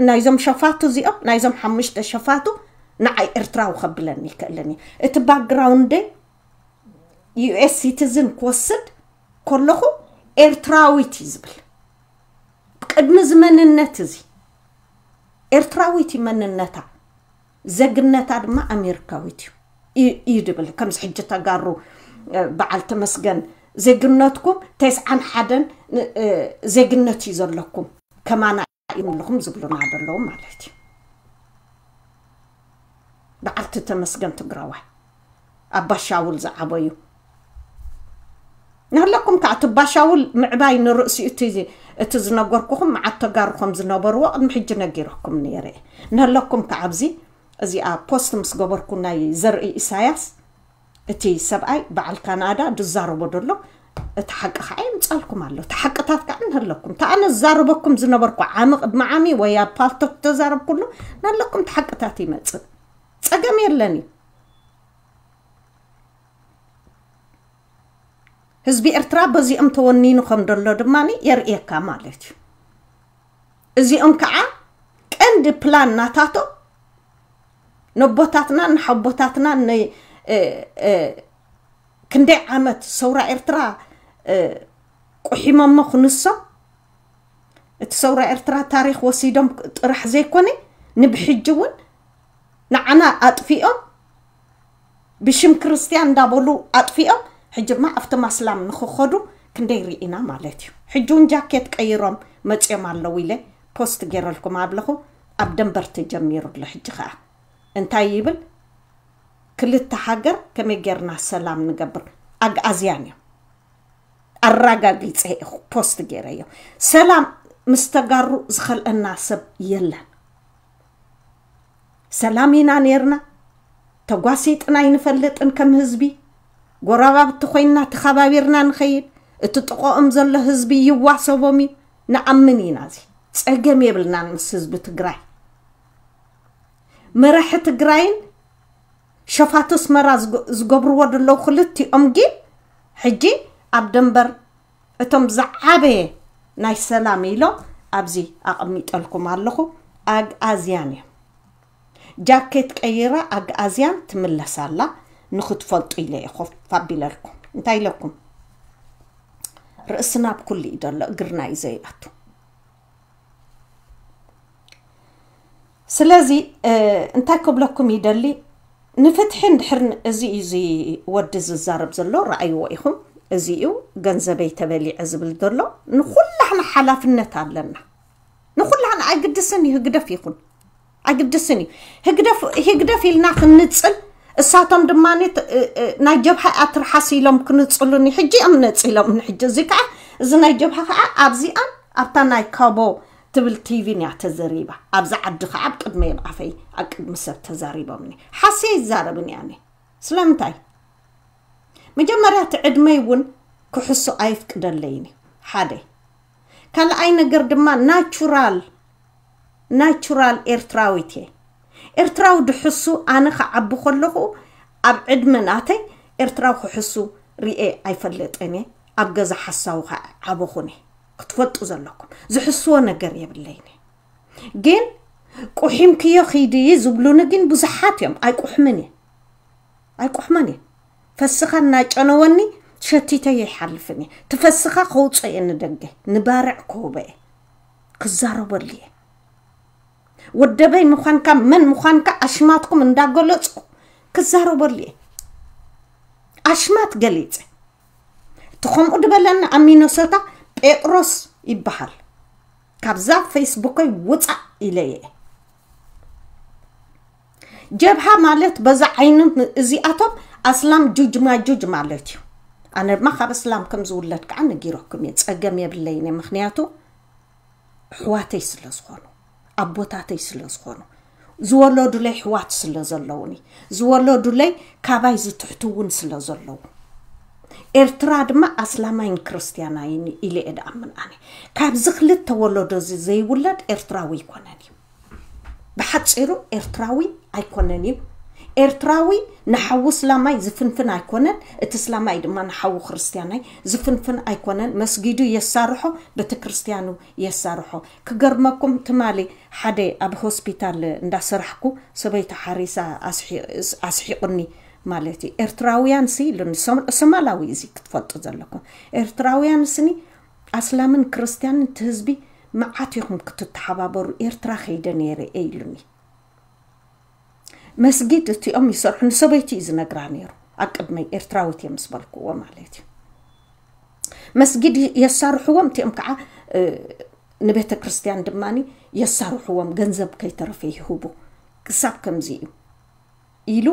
ናይዞም ሸፋቱ እዚኦም ናይዞም ሓሙሽተ ሸፋቱ ንዓይ ኤርትራዊ ከብለኒ ይክእልን እዩ እቲ ባክግራውንደይ ዩኤስ ሲቲዝን ክወስድ ከለኹ ኤርትራዊት እዩ ዝብል ቅድሚ እዚ መንነት እዚ ኤርትራዊት እዩ መንነታ ዘግነታ ድማ ኣሜሪካዊት እዩ እዩ ድብል ከምዚ ሕጂ ተጋሩ በዓል ተመስገን ዜግነትኩም ተስዓን ሓደን ዜግነት እዩ ዘለኩም ከማና ይምልኹም ዝብሉና ዘለዉ ማለት እዩ በዓልቲ ተመስገን ትግራዋይ ኣባሻውል ዝዓበዩ ንህለኩም ከዓ እቲ ባሻውል ምዕባይ ንርእሲኡ እቲ ዝነገርኩኹም መዓት ተጋሩ ከም ዝነበርዎ ቅድሚ ሕጂ ነጊረኩም ነይረ ንህለኩም ከዓ ኣብዚ እዚኣ ፖስት ምስ ገበርኩ ናይ ዘርኢ ኢሳያስ፣ እቲ ሰብኣይ በዓል ካናዳ ዝዛረቦ ዘሎ፣ እቲ ሓቂ ከዓ ይምፃልኩም ኣሎ። እቲ ሓቅታት ከዓ ንህለኩም። እታ ኣነ ዝዛረበኩም ዝነበርኩ ዓሚ ቅድሚ ዓሚ ወይ ኣብ ፓልቶክ ተዛረብኩሉ፣ ናለኩም እቲ ሓቅታት ይመፅእ። ፀገም የለን እዩ። ህዝቢ ኤርትራ በዚኦም ተወኒኑ ከም ዘሎ ድማ የርእየካ ማለት እዩ። እዚኦም ከዓ ቀንዲ ፕላን ናታቶም ነቦታትና ንሓቦታትና ን-፣ እ፣ እ፣ ክንደይ ዓመት ሰውራ ኤርትራ፣ እ፣ ቁሒሞሞ ክንሶም፣ እቲ ሰውራ ኤርትራ ታሪኽ ወሲዶም ጥራሕ ዘይኮነ፣ ንብሕጂ እውን ንዓና ኣጥፊኦም፣ ብሽም ክርስትያን እንዳበሉ ኣጥፊኦም፣ ሕጂ ድማ ኣብቶም ኣስላም ንኽኸዱ ክንደይ ርኢና ማለት እዩ። ሕጂ እውን ጃኬት ቀይሮም መፅዮም ኣለዉ ኢለ ፖስት ገይረልኩም ኣለኹ። ኣብ ደንበር ተጀሚሩ ኣሎ። ሕጂ ከዓ እንታይ ይብል? ክልተ ሃገር ከመይ ጌርና ሰላም ንገብር? ኣግኣዝያን እዮም። ኣረጋጊፀ እየ ፖስት ገይረዮ። ሰላም ምስ ተጋሩ ዝኸልአና ሰብ የለን። ሰላም ኢና ነይርና፣ ተጓሲጥና ኣይንፈልጥን። ከም ህዝቢ ጎረባብቲ ኮይንና ተኸባቢርና ንኸይድ። እቲ ጥቕኦም ዘሎ ህዝቢ ይዋሰቦም እዩ፣ ንኣምን ኢና። እዚ ፀገም የብልናን ምስ ህዝቢ ትግራይ። መራሒ ትግራይን ሸፋቱ ኣስመራ ዝገ-፣ ዝገብርዎ ዘለዉ ክልቲኦም ግን ሕጂ ኣብ ደንበር እቶም ዝዓበየ ናይ ሰላም ኢሎም ኣብዚ ኣቐሚጠልኩም ኣለኹ። ኣግኣዝያን እዮም። ጃኬት ቀይራ ኣግኣዝያን ትምለስ ኣላ፣ ንኽትፈልጡ ኢለ እየ ኮፍ ኣቢለልኩም። እንታይ ኢለኩም? ርእስና ኣብ ኩሉ እዩ ዘሎ፣ እግርና እዩ ዘይኣቱ። ስለዚ፣ እ፣ እንታይ ክብለኩም ይደሊ፣ ንፍትሒ እንድሕር ን-፣ እዚ እዩ፣ እዚ ወዲ ዝዛረብ ዘሎ፣ ረኣይዎ ኢኹም። እዚ እዩ ገንዘበይ ተበሊዐ ዝብል ዘሎ። ንኹላህና ሓላፍነት ኣለና። ንኹላህና፣ ኣይግድስን እዩ ህግደፍ ይኹን፣ ኣይግድስን እዩ። ህግደፍ፣ ህግደፍ ኢልና ክንጽል፣ እሳቶም ድማ ት-፣ እ፣ እ፣ ናይ ጀብሃ ኣትርሓስ ኢሎም ክንጽሉኒ፣ ሕጂ እዮም ነጺሎም። ንሕጂ እዚ ከዓ፣ እዚ ናይ ጀብሃ ከዓ ኣብዚኣን ኣብታ ናይ ካቦ ትብል ቲቪን እያ ተዘሪባ። ኣብዚ ዓዲ ከዓ ኣብ ቅድመይ ኣብ ኣፈይ ኣብ ቅድሚ ሰብ ተዛሪቦምኒ። ሓሲ ይዛረብን እያ ኣነ። ስለምንታይ? መጀመርያ እቲ ዕድመይ እውን ክሕሱ ኣይፍቅደለይን እዩ። ሓደ። ካልኣይ ነገር ድማ ናቹራል፣ ናቹራል ኤርትራዊት እየ። ኤርትራዊ ድሕሱ ኣነ ክዓቢ ከለኹ ኣብ ዕድመ ናተይ ኤርትራዊ ክሕሱ ርኤ ኣይፈልጥን እየ። ኣብ ገዛ ሓሳዊ ከዓ ዓበኹን እየ። ክትፈልጡ ዘለኩም። ዝሕስዎ ነገር የብለይን እየ። ግን ቁሒምክዮ ኺዲ ዝብሉኒ ግን ብዙሓት እዮም። ኣይቁሕምን እየ። ኣይቁሕመን እየ። ፈስኻ እናጨነወኒ ሸቲተ ይሓልፍን እየ። ትፈስኻ ከውፅኦ እየ ንደገ፣ ንባርዕ ክህቦ እየ። ክዛረበሉ እየ። ወደበይ ምዃንካ፣ መን ምዃንካ ኣሽማትኩም እንዳገለፅኩ ክዛረበሉ እየ። ኣሽማት ገሊፀ። እቲ ከምኡ ድበለኒ ኣብ ሚነሶታ ጴጥሮስ ይበሃል። ካብዛ ፌስቡከይ ውፃእ ኢለየ። ጀብሃ ማለት በዛ ዓይኒ እዚኣቶም ኣስላም ጁጅ ማጁጅ ማለት እዩ። ኣነ ድማ ካብ እስላም ከም ዝውለድ ከዓ ነጊረኩም እየ። ፀገም የብለይን እየ። ምኽንያቱ ኣሕዋተይ ስለ ዝኾኑ፣ ኣቦታተይ ስለ ዝኾኑ፣ ዝወለዱለይ ኣሕዋት ስለ ዘለዉኒ፣ ዝወለዱለይ ካባይ ዝትሕትውን ስለ ዘለዉ፣ ኤርትራ ድማ ኣስላማይን ክርስትያናይን ኢለ እየ ድኣምን ኣነ። ካብዚ ክልተ ወለዶ እዚ ዘይውለድ ኤርትራዊ ኣይኮነን እዩ። ብሓጺሩ ኤርትራዊ ኣይኮነን እዩ። ኤርትራዊ ንሓዉ እስላማይ ዝፍንፍን ኣይኮነን፣ እቲ እስላማይ ድማ ንሓዉ ክርስትያናይ ዝፍንፍን ኣይኮነን። መስጊዱ የሳርሖ፣ ቤተክርስትያኑ የሳርሖ። ክገርመኩም፣ ትማሊ ሓደ ኣብ ሆስፒታል እንዳሰራሕኩ ሰበይቲ ሓሪሳ ኣስሒ-፣ ኣስሒቑኒ ማለት እዩ። ኤርትራውያን ሲ ኢሉኒ፣ ሶም-፣ ሶማላዊ እዚ ክትፈልጡ ዘለኩም። ኤርትራውያን ስኒ ኣስላምን ክርስትያንን እቲ ህዝቢ መዓት ኢኹም ክትተሓባበሩ፣ ኤርትራ ከይደ ነይረ እየ ኢሉኒ። መስጊድ እቲኦም ይሰርሑ፣ ንሰበይቲ እዩ ዝነግራ ነይሩ። ኣብ ቅድመይ ኤርትራዊት እዮም ምስ በልክዎ ማለት እዩ። መስጊድ የሳርሕዎም፣ እቲኦም ከዓ፣ እ፣ ንቤተ ክርስቲያን ድማ የሳርሕዎም፣ ገንዘብ ከይተረፈ ይህቡ። ክሳብ ከምዚ እዩ ኢሉ፣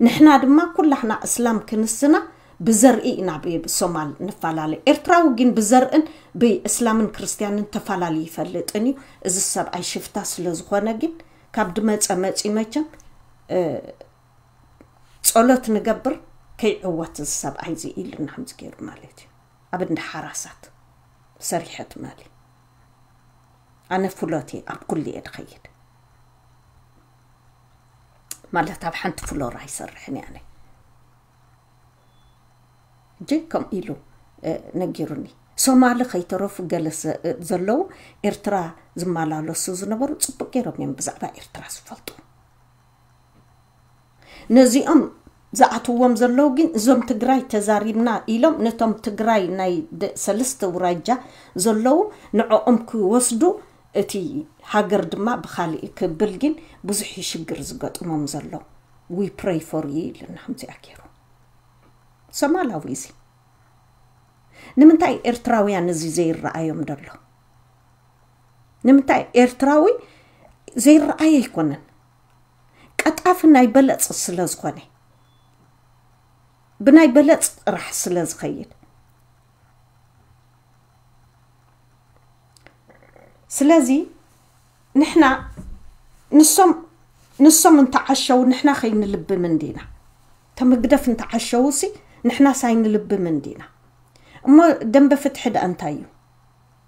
ንሕና ድማ ኩላህና እስላም ክንስና ብዘርኢ ኢና ብ-፣ ብሶማል ንፈላለ። ኤርትራዊ ግን ብዘርእን ብእስላምን ክርስትያንን ተፈላለዩ ይፈልጥን እዩ። እዚ ሰብኣይ ሽፍታ ስለ ዝኾነ ግን ካብ ድመፀ መፂ መቸም እ፣ ጸሎት ንገብር ከይዕወት እዚ ሰብኣይ እዚ ኢሉና ከምዚ ገይሩ ማለት እዩ። ኣብ እንዳ ሓራሳት ሰሪሐ ትማሊ ኣነ ፍሎት እየ፣ ኣብ ኩሉ እየ ድኸይድ ማለት ኣብ ሓንቲ ፍሎር ኣይሰርሕን እየ ኣነ። ጀይ ከምኡ ኢሉ ነጊሩኒ። ሶማሊ ከይተረፉ ገለ ዘለዉ ኤርትራ ዝመላለሱ ዝነበሩ ጽቡቅ ገይሮም እዮም ብዛዕባ ኤርትራ ዝፈልጡ። ነዚኦም ዝኣትዎም ዘለዉ ግን እዞም ትግራይ ተዛሪብና ኢሎም ነቶም ትግራይ ናይ ሰለስተ ውራጃ ዘለዉ ንዕኦም ክወስዱ፣ እቲ ሃገር ድማ ብካሊእ ክብል ግን ብዙሕ ሽግር ዝገጥሞም ዘሎ። We pray for you ኢልና ከምዚኣ ገይሩ ሶማላዊ እዚ። ንምንታይ ኤርትራውያን እዚ ዘይረኣዮም ደሎ? ንምንታይ ኤርትራዊ ዘይረኣየ ኣይኮነን። ቀጣፊ ናይ በለጽ ስለ ዝኾነ፣ ብናይ በለጽ ጥራሕ ስለ ዝኸይድ። ስለዚ ንሕና ንሶም ንሶም እንተዓሸው ንሕና ከይንልብም እንዲና። ተመግደፍ እንተዓሸው ሲ ንሕና ሳይንልብም እንዲና። እሞ ደንበ ፍትሒ ደኣ እንታይ እዩ?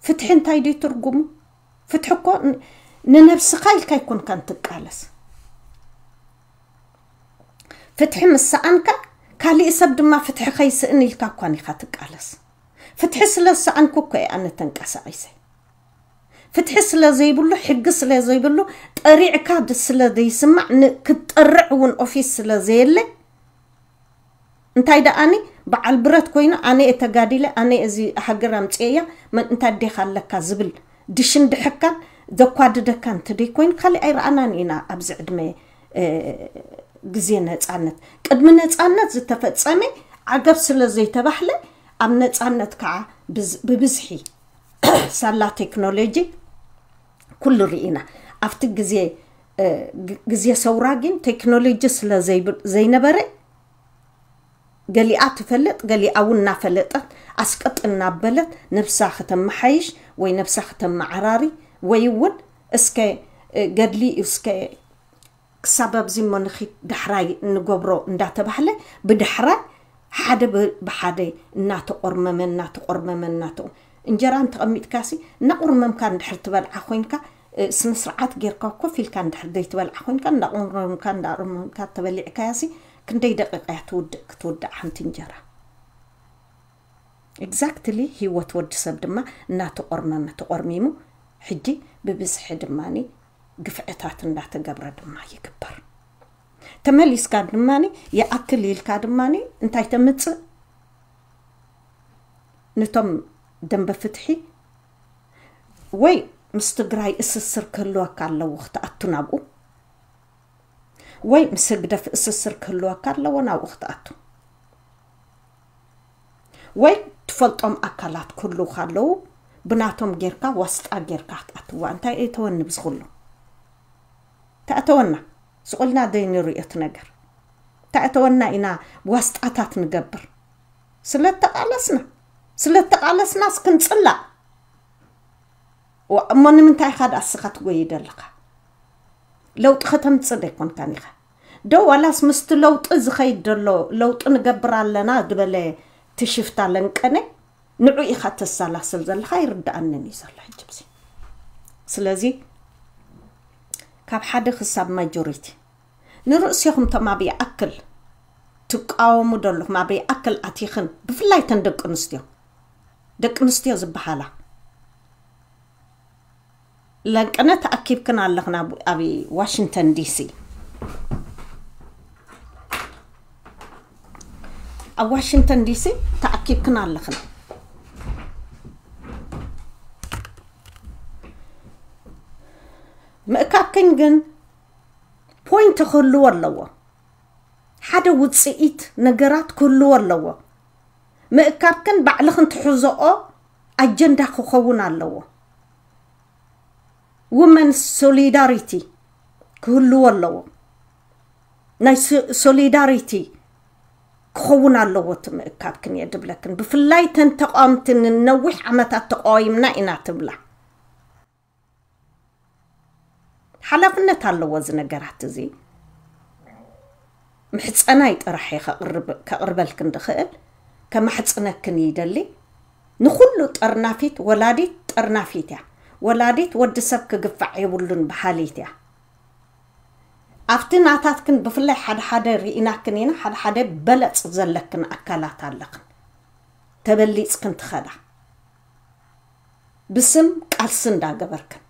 ፍትሒ እንታይ ድዩ ትርጉሙ? ፍትሒ እኮ ንነብስኻ ኢልካ ኣይኮንካን ትቃለስ። ፍትሒ ምስ ሰኣንካ ካሊእ ሰብ ድማ ፍትሒ ከይስእን ኢልካ እኳን ኢኻ ትቃለስ። ፍትሒ ስለ ዝሰኣንኩ እኮ እየ ኣነ ተንቀሳቒሰ። ፍትሒ ስለ ዘይብሉ፣ ሕጊ ስለ ዘይብሉ፣ ጠሪዕካ ስለ ዘይስማዕ፣ ክትጠርዕ እውን ኦፊስ ስለ ዘየለ፣ እንታይ ደኣኒ በዓል ብረት ኮይኑ ኣነ እየ ተጋዲለ፣ ኣነ እዚ ሃገር ኣምፅኤያ፣ መን እንታይ ዴኻ ኣለካ ዝብል ድሽን ድሕካን ዘኳድደካ እንተደይ ኮይኑ ካሊእ ኣይረኣናን ኢና ኣብዚ ዕድመ ግዜ ነፃነት። ቅድሚ ነፃነት ዝተፈፀመ ዓገብ ስለ ዘይተባህለ ኣብ ነፃነት ከዓ ብብዝሒ ሳላ ቴክኖሎጂ ኩሉ ርኢና። ኣብቲ ግዜ ግዜ ሰውራ ግን ቴክኖሎጂ ስለ ዘይነበረ ገሊኣ ትፈልጥ ገሊኣ እውን እናፈለጠት ኣስቀጥ እናበለት ነብሳ ከተመሓይሽ ወይ ነብሳ ከተመዓራሪ ወይ እውን እስከ ገድሊ እስከ ክሳብ ኣብዚ እሞ ንኺድ ዳሕራይ እንገብሮ እንዳተባህለ ብዳሕራይ ሓደ ብሓደ እናተቆርመመ እናተቆርመመ እናተ እንጀራ እንተቐሚጥካሲ እናቆርመምካ እንድሕር ትበልዓ ኮይንካ ስነ ስርዓት ጌርካ ኮፍ ኢልካ እንድሕር ዘይትበልዓ ኮይንካ እንዳቆርመምካ እንዳቆርመምካ ተበሊዕካያሲ ክንደይ ደቂቃ እያ ትውድእ ክትውድእ ሓንቲ እንጀራ? Exactly። ህይወት ወዲ ሰብ ድማ እናተቆርመመ ተቆርሚሙ ሕጂ ብብዝሒ ድማኒ ግፍዕታት እንዳተገብረ ድማ ይግበር። ተመሊስካ ድማኒ ይኣክል ኢልካ ድማኒ እንታይ ተምፅእ? ነቶም ደንበ ፍትሒ ወይ ምስ ትግራይ እስስር ክህልወካ ኣለዎ ክትኣቱ ናብኡ ወይ ምስ ህግደፍ እስስር ክህልወካ ኣለዎ ናብኡ ክትኣቱ ወይ ትፈልጦም ኣካላት ክህልውካ ኣለዉ ብናቶም ጌርካ ዋስጣ ጌርካ ክትኣትዋ እንታይ እተወኒ ብዝኽሉ ተኣተወና ስቑልና ደይ ንርእዮ እቲ ነገር ተኣተወና ኢና ዋስጣታት ንገብር ስለተቃለስና ስለተቃለስናስ ክንጽላእ እሞ ንምንታይ ኢኻ ደኣ እስኻ ትጎይ ደለኻ ለውጢ ከተምጽእ ደይኮንካን ኢኻ ዶ ዋላስ ምስቲ ለውጢ ዝኸይድ ዘሎ ለውጢ ንገብር ኣለና ዝበለ ትሽፍታ ለንቀነ ንዑ ኢኻ ተሰላስል ዘለኻ ይርድኣንን እዩ ዘሎ ሕጂ ብዚ ስለዚ ካብ ሓደ ክሳብ ማጆሪቲ ንርእስኹም ቶም ኣብ ይኣክል ትቃወሙ ደለኹም ኣብ ይኣክል ኣቲኽን ብፍላይ ተን ደቂ ኣንስትዮ ደቂ ኣንስትዮ ዝበሃላ ለንቅነ ተኣኪብክን ኣለኽን ኣብ ዋሽንግተን ዲሲ ኣብ ዋሽንግተን ዲሲ ተኣኪብክን ኣለኽን ምእካብክን ግን ፖይንት ክህልዎ ኣለዎ ሓደ ውፅኢት ነገራት ክህልዎ ኣለዎ ምእካብክን ባዕልኽን ትሕዘኦ ኣጀንዳ ክኸውን ኣለዎ ውመን ሶሊዳሪቲ ክህልዎ ኣለዎ ናይ ሶሊዳሪቲ ክኸውን ኣለዎ እቲ ምእካብክን እየ ድብለክን ብፍላይ ተን ተቃወምቲ ንነዊሕ ዓመታት ተቃዊምና ኢና ትብላ ሓላፍነት ኣለዎ እዚ ነገራት እዚ ምሕፀናይ ጥራሕ እየ ከቕርብ- ከቕርበልክን ድኽእል። ከማሕፅነክን ይደሊ። ንኹሉ ጠርናፊት ወላዲት ጠርናፊት እያ። ወላዲት ወዲ ሰብ ክግፋዕ የብሉን በሃሊት እያ። ኣብቲ ናታትክን ብፍላይ ሓደ ሓደ ርኢናክን ኢና። ሓደ ሓደ በለፅ ዘለክን ኣካላት ኣለኽን፣ ተበሊፅክን ትኸዳ ብስም ቃልሲ እንዳገበርክን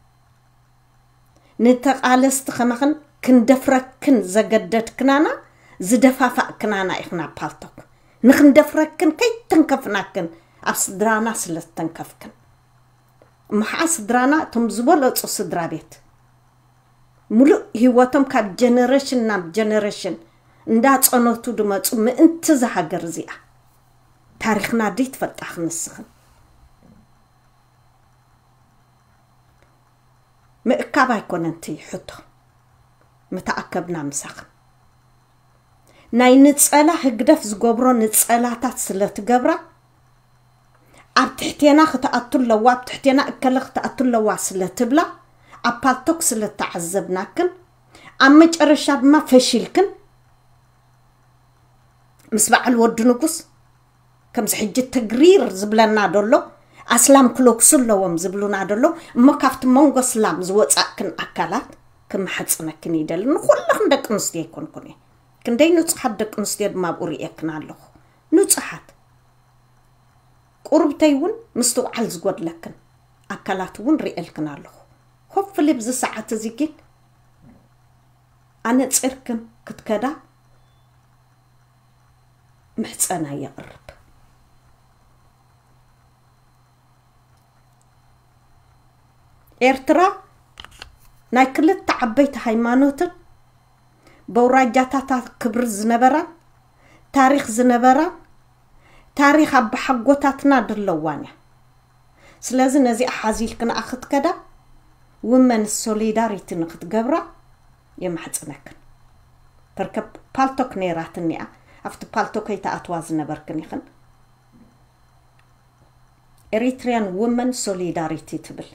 ንተቓለስቲ ከማኽን ክንደፍረክን ዘገደድክናና ዝደፋፋእክናና ኢኽና። ፓልቶክ ንክንደፍረክን ከይተንከፍናክን ኣብ ስድራና ስለ ዝተንከፍክን። እሞ ኸዓ ስድራና እቶም ዝበለፁ ስድራ ቤት ሙሉእ ህይወቶም ካብ ጀነሬሽን ናብ ጀነሬሽን እንዳፀነቱ ድመፁ ምእንቲ እዛ ሃገር እዚኣ። ታሪኽና ደይ ትፈልጣ ክንስኽን ምእካብ ኣይኮነን እቲ ሕቶ። ምተኣከብና ምሳኽን ናይ ንፀላ ህግደፍ ዝገብሮ ንፀላታት ስለ ትገብራ ኣብ ትሕቴና ክትኣቱ ኣለዋ፣ ኣብ ትሕቴና እከለ ክትኣቱ ኣለዋ ስለ ትብላ ኣብ ፓልቶክ ስለ ተዓዘብናክን ኣብ መጨረሻ ድማ ፈሺልክን ምስ በዓል ወዲ ንጉስ ከምዚ ሕጂ ትግሪር ዝብለና ደሎ ኣስላም ክለክሱ ኣለዎም ዝብሉና ደሎ እሞ ካብቲ መንጎ ስላም ዝወፃእክን ኣካላት ክምሓፅነክን ይደሊ። ንኩልኽን ደቂ ኣንስትዮ ኣይኮንኩን እየ። ክንደይ ንፁሓት ደቂ ኣንስትዮ ድማ ኣብኡ ርእየክን ኣለኹ። ንፁሓት ቁርብተይ እውን ምስትውዓል ዝጎድለክን ኣካላት እውን ርእየልክን ኣለኹ። ኮፍሊ ብዚ ሰዓት እዚ ግን ኣነፂርክን ክትከዳ ምሕፀና የቕርብ። ኤርትራ ናይ ክልተ ዓበይቲ ሃይማኖትን በውራጃታታ ክብሪ ዝነበራን ታሪኽ ዝነበራን ታሪኽ ኣባሓጎታትና ድለዋን እያ። ስለዚ ነዚኣ ሓዚልክን ክትከዳ ውመን ሶሊዳሪቲ ንክትገብራ የማሕፅነክን። ፐርከ ፓልቶክ ነይራትኒ እያ። ኣብቲ ፓልቶክ ከይተኣትዋ ዝነበርክን ኢኽን። ኤሪትሪያን ውመን ሶሊዳሪቲ ትብል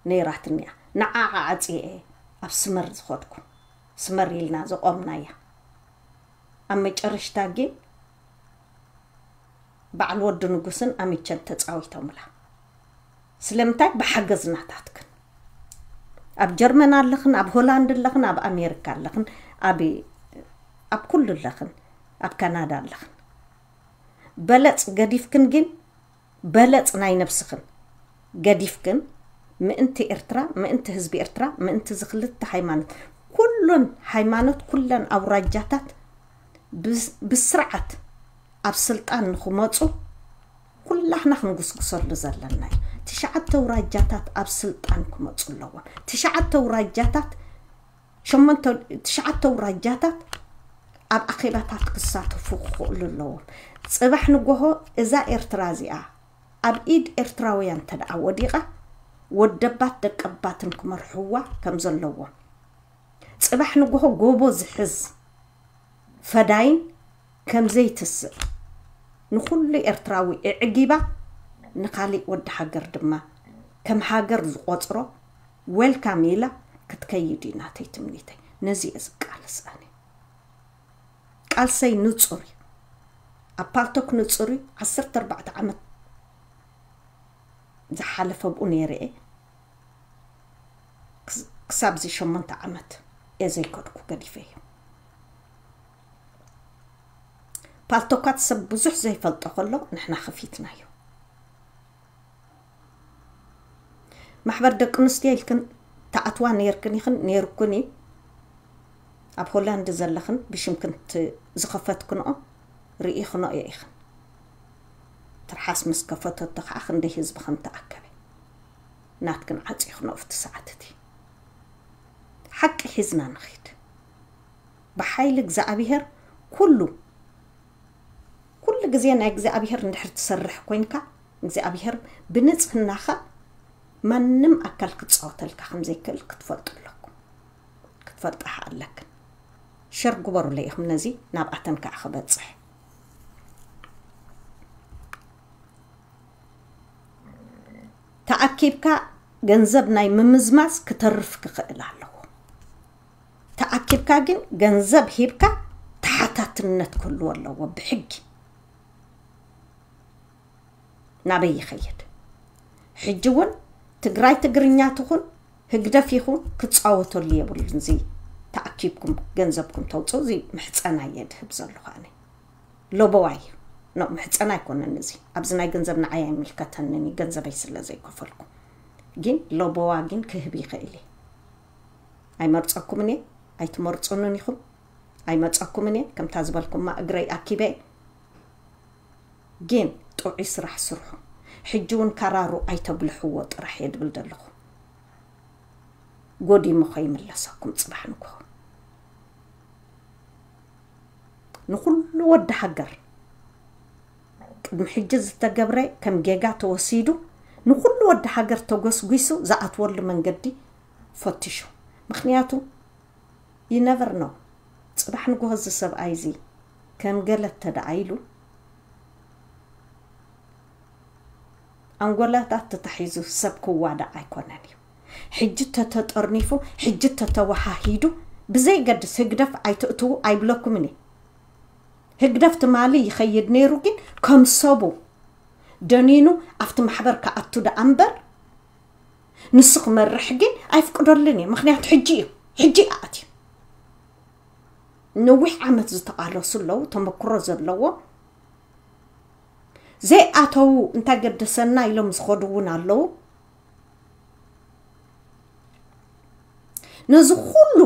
ነይራትኒ እያ። ንዓዓ ዓፅየ እየ ኣብ ስመር ዝኸድኩ። ስመር ኢልና ዘቆምናያ። ኣብ መጨረሽታ ግን በዓል ወዲ ንጉስን ኣሚቸን ተፃዊቶምላ። ስለምንታይ? ብሓገዝ ናታትክን። ኣብ ጀርመን ኣለኽን፣ ኣብ ሆላንድ ኣለኽን፣ ኣብ ኣሜሪካ ኣለኽን፣ ኣብ ኣብ ኩሉ ኣለኽን፣ ኣብ ካናዳ ኣለኽን። በለፅ ገዲፍክን ግን በለፅ ናይ ነብስኽን ገዲፍክን ምእንቲ ኤርትራ፣ ምእንቲ ህዝቢ ኤርትራ፣ ምእንቲ እዚ ክልተ ሃይማኖት፣ ኩሉን ሃይማኖት፣ ኩለን ኣውራጃታት ብስ- ብስርዓት ኣብ ስልጣን ንክመፁ ኩላህና ክንጉስጉሰሉ ዘለና እዩ። ትሽዓተ ኣውራጃታት ኣብ ስልጣን ክመፁ ኣለዎም። ትሽዓተ ኣውራጃታት ሸሞንተ ትሽዓተ ኣውራጃታት ኣብ ኣኼባታት ክሳተፉ ክኽእሉ ኣለዎም። ፅባሕ ንጎሆ እዛ ኤርትራ እዚኣ ኣብ ኢድ ኤርትራውያን እንተ ደኣ ወዲቓ ወደባት ደቀባትን ክመርሕዋ ከም ዘለዎም፣ ፅባሕ ንጎሆ ጎቦ ዝሕዝ ፈዳይን ከም ዘይትስእ ንኹሉ ኤርትራዊ እዕጊባ ንኻሊእ ወዲ ሃገር ድማ ከም ሃገር ዝቆፅሮ ዌልካም ኢላ ክትከይድ እዩ ናተይ ትምኒተይ። ነዚ እየ ዝቃለስ ኣነ። ቃልሰይ ንፁር እዩ። ኣብ ፓልቶክ ንፁር እዩ። ዓሰርተ ኣርባዕተ ዓመት ዝሓለፈ ብኡ ነይረ እየ። ክስ- ክሳብ እዚ ሸሞንተ ዓመት እየ ዘይከድኩ ገዲፈ እዩ። ፓልቶካት ሰብ ብዙሕ ዘይፈልጦ ከሎ ንሕና ከፊትናዮ። ማሕበር ደቂ ኣንስትዮ ኢልክን ተኣትዋ ነይርክን ኢኽን ነይርኩን እዩ። ኣብ ሆላንድ ዘለኽን ብሽምክን ት- ዝኸፈትክንኦ ርኢኽንኦ ኢኽን። ትርሓስ ምስ ከፈተቶ ከዓ ክንደይ ህዝቢ ከም ተኣከበ ናትክን ዓፂኽንኦ ኣብቲ ሰዓት እቲ። ሓቂ ሒዝና ንኺድ። ብሓይሊ እግዚኣብሔር ኩሉ ኩሉ ግዜ ናይ እግዚኣብሔር እንድሕር ትሰርሕ ኮይንካ እግዚኣብሔር ብንጽህናኻ ማንም ኣካል ክጻወተልካ ከም ዘይክእል ክትፈልጡ ኣለኩም። ክትፈልጣ ኣለክን። ሸር ግበሩለይ ኢኹም ነዚ ናብኣተን ከዓ ክበጽሕ። ተኣኪብካ ገንዘብ ናይ ምምዝማዝ ክተርፍ ክኽእል ኣለዎ። ተኣኪብካ ግን ገንዘብ ሂብካ እነት ክህልዎ ኣለዎ ብሕጊ። ናበይ ይኸይድ? ሕጂ እውን ትግራይ ትግርኛ ትኹን ህግደፍ ይኹን ክፃወተሉ የብሉን። እዚ ተኣኪብኩም ገንዘብኩም ተውፅኡ። እዚ ምሕፀና እየ ድህብ ዘለኹ ኣነ። ሎበዋ እዩ። ኖ፣ ምሕፀና ኣይኮነን እዚ። ኣብዚ ናይ ገንዘብ ንዓይ ኣይምልከተንን እዩ፣ ገንዘበይ ስለ ዘይከፈልኩ። ግን ሎበዋ ግን ክህብ ይኽእል እየ። ኣይመርፀኩምን እየ፣ ኣይትመርፁንን ኢኹም። ኣይመፀኩምን እየ፣ ከምታ ዝበልኩማ እግረይ ኣኪበ። ግን ጥዑይ ስራሕ ስርሑ። ሕጂ እውን ካራሩ ኣይተብልሕዎ ጥራሕ እየ ድብል ዘለኹ። ጎዲሙ ከይምለሰኩም ፅባሕ ንግሆ። ንኹሉ ወዲ ሃገር ቅድሚ ሕጂ ዝተገብረ ከም ጌጋ ተወሲዱ፣ ንኹሉ ወዲ ሃገር ተጎስጒሱ ዝኣትወሉ መንገዲ ፈትሹ። ምኽንያቱ you never know፣ ፅባሕ ንግሆ እዚ ሰብኣይ እዚ ከም ገለ ተደኣ ኢሉ ኣንጎላታት ተታሒዙ ሰብ ክዋዳእ ኣይኮነን እዩ። ሕጂ ተተጠርኒፉ፣ ሕጂ ተተወሃሂዱ፣ ብዘይገድስ ህግደፍ ኣይትእትዉ ኣይብለኩምን እየ። ህግደፍ ትማሊ ይኸይድ ነይሩ፣ ግን ከም ሰቡ ደኒኑ ኣብቲ ማሕበር ክኣቱ ደኣ እምበር ንሱ ክመርሕ ግን ኣይፍቅደሉን እየ። ምኽንያቱ ሕጂ እዩ፣ ሕጂ ኣትዩ። ነዊሕ ዓመት ዝተቓለሱ ኣለዉ፣ ተመክሮ ዘለዎ። ዘይኣተዉ እንታይ ገደሰና ኢሎም ዝኸዱ እውን ኣለዉ። ነዚ ኩሉ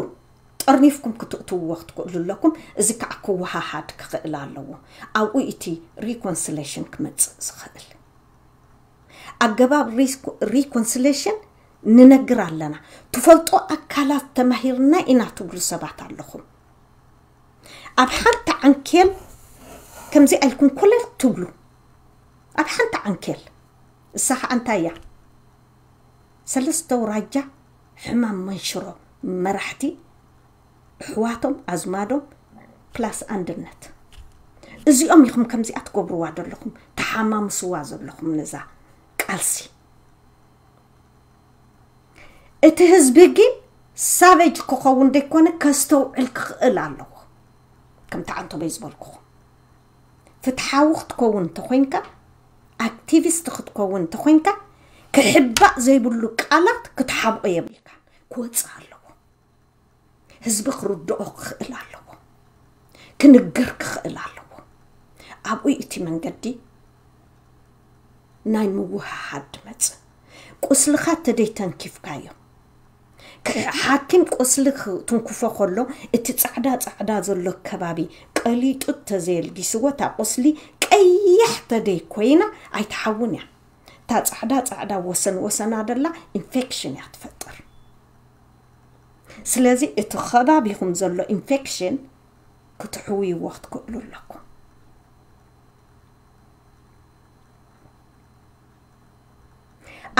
ጠርኒፍኩም ክትእትውዎ ክትክእሉ ኣለኩም። እዚ ከዓ ክወሃሃድ ክኽእል ኣለዎ። ኣብኡ እቲ ሪኮንስሌሽን ክመፅእ ዝኽእል ኣገባብ ሪኮንስሌሽን ንነግር ኣለና። ትፈልጦ ኣካላት ተማሂርና ኢና ትብሉ ሰባት ኣለኹም። ኣብ ሓንቲ ዓንኬል ከምዚ ኣልኩም ኮለል ትብሉ። ኣብ ሓንቲ ዓንኬል። እሳ ከዓ እንታይ እያ? ሰለስተ ውራጃ ሕማም መንሽሮ መራሕቲ፣ ኣሕዋቶም፣ ኣዝማዶም፣ ፕላስ ኣንድነት። እዚኦም ኢኹም ከምዚኣ ትገብርዋ ዘለኹም፣ ተሓማምስዋ ዘለኹም ነዛ ቃልሲ። እቲ ህዝቢ ግን ሳቬጅ ክኸውን ደይኮነ ከስተውዕል ክኽእል ኣለዎ። ከምቲ ዓንቶበይ ዝበልኩኹም፣ ፍትሓዊ ክትከውን እንተኾይንካ፣ ኣክቲቪስት ክትከውን እንተኾይንካ፣ ክሕባእ ዘይብሉ ቃላት ክትሓብኦ የብልካ፣ ክወፅእ ኣለዎ። ህዝቢ ክርድኦ ክኽእል ኣለዎ፣ ክንግር ክኽእል ኣለዎ። ኣብኡ እቲ መንገዲ ናይ ምውህሃድ ድመጽእ። ቁስልኻ ተደይ ተንኪፍካዮ፣ ክ-፣ ሓኪም ቁስሊ ክትንክፎ ከሎ፣ እቲ ጻዕዳ ጻዕዳ ዘሎ ከባቢ ቀሊጡ ተዘየልጊስዎ፣ እታ ቁስሊ ቀያሕ ተደይ ኮይና ኣይትሓውን እያ። እታ ጻዕዳ ጻዕዳ ወሰን ወሰና ደላ ኢንፌክሽን እያ ትፈጥር። ስለዚ እቲ ከባቢኹም ዘሎ ኢንፌክሽን ክትሕውይዎ ክትክእሉ ኣለኩም።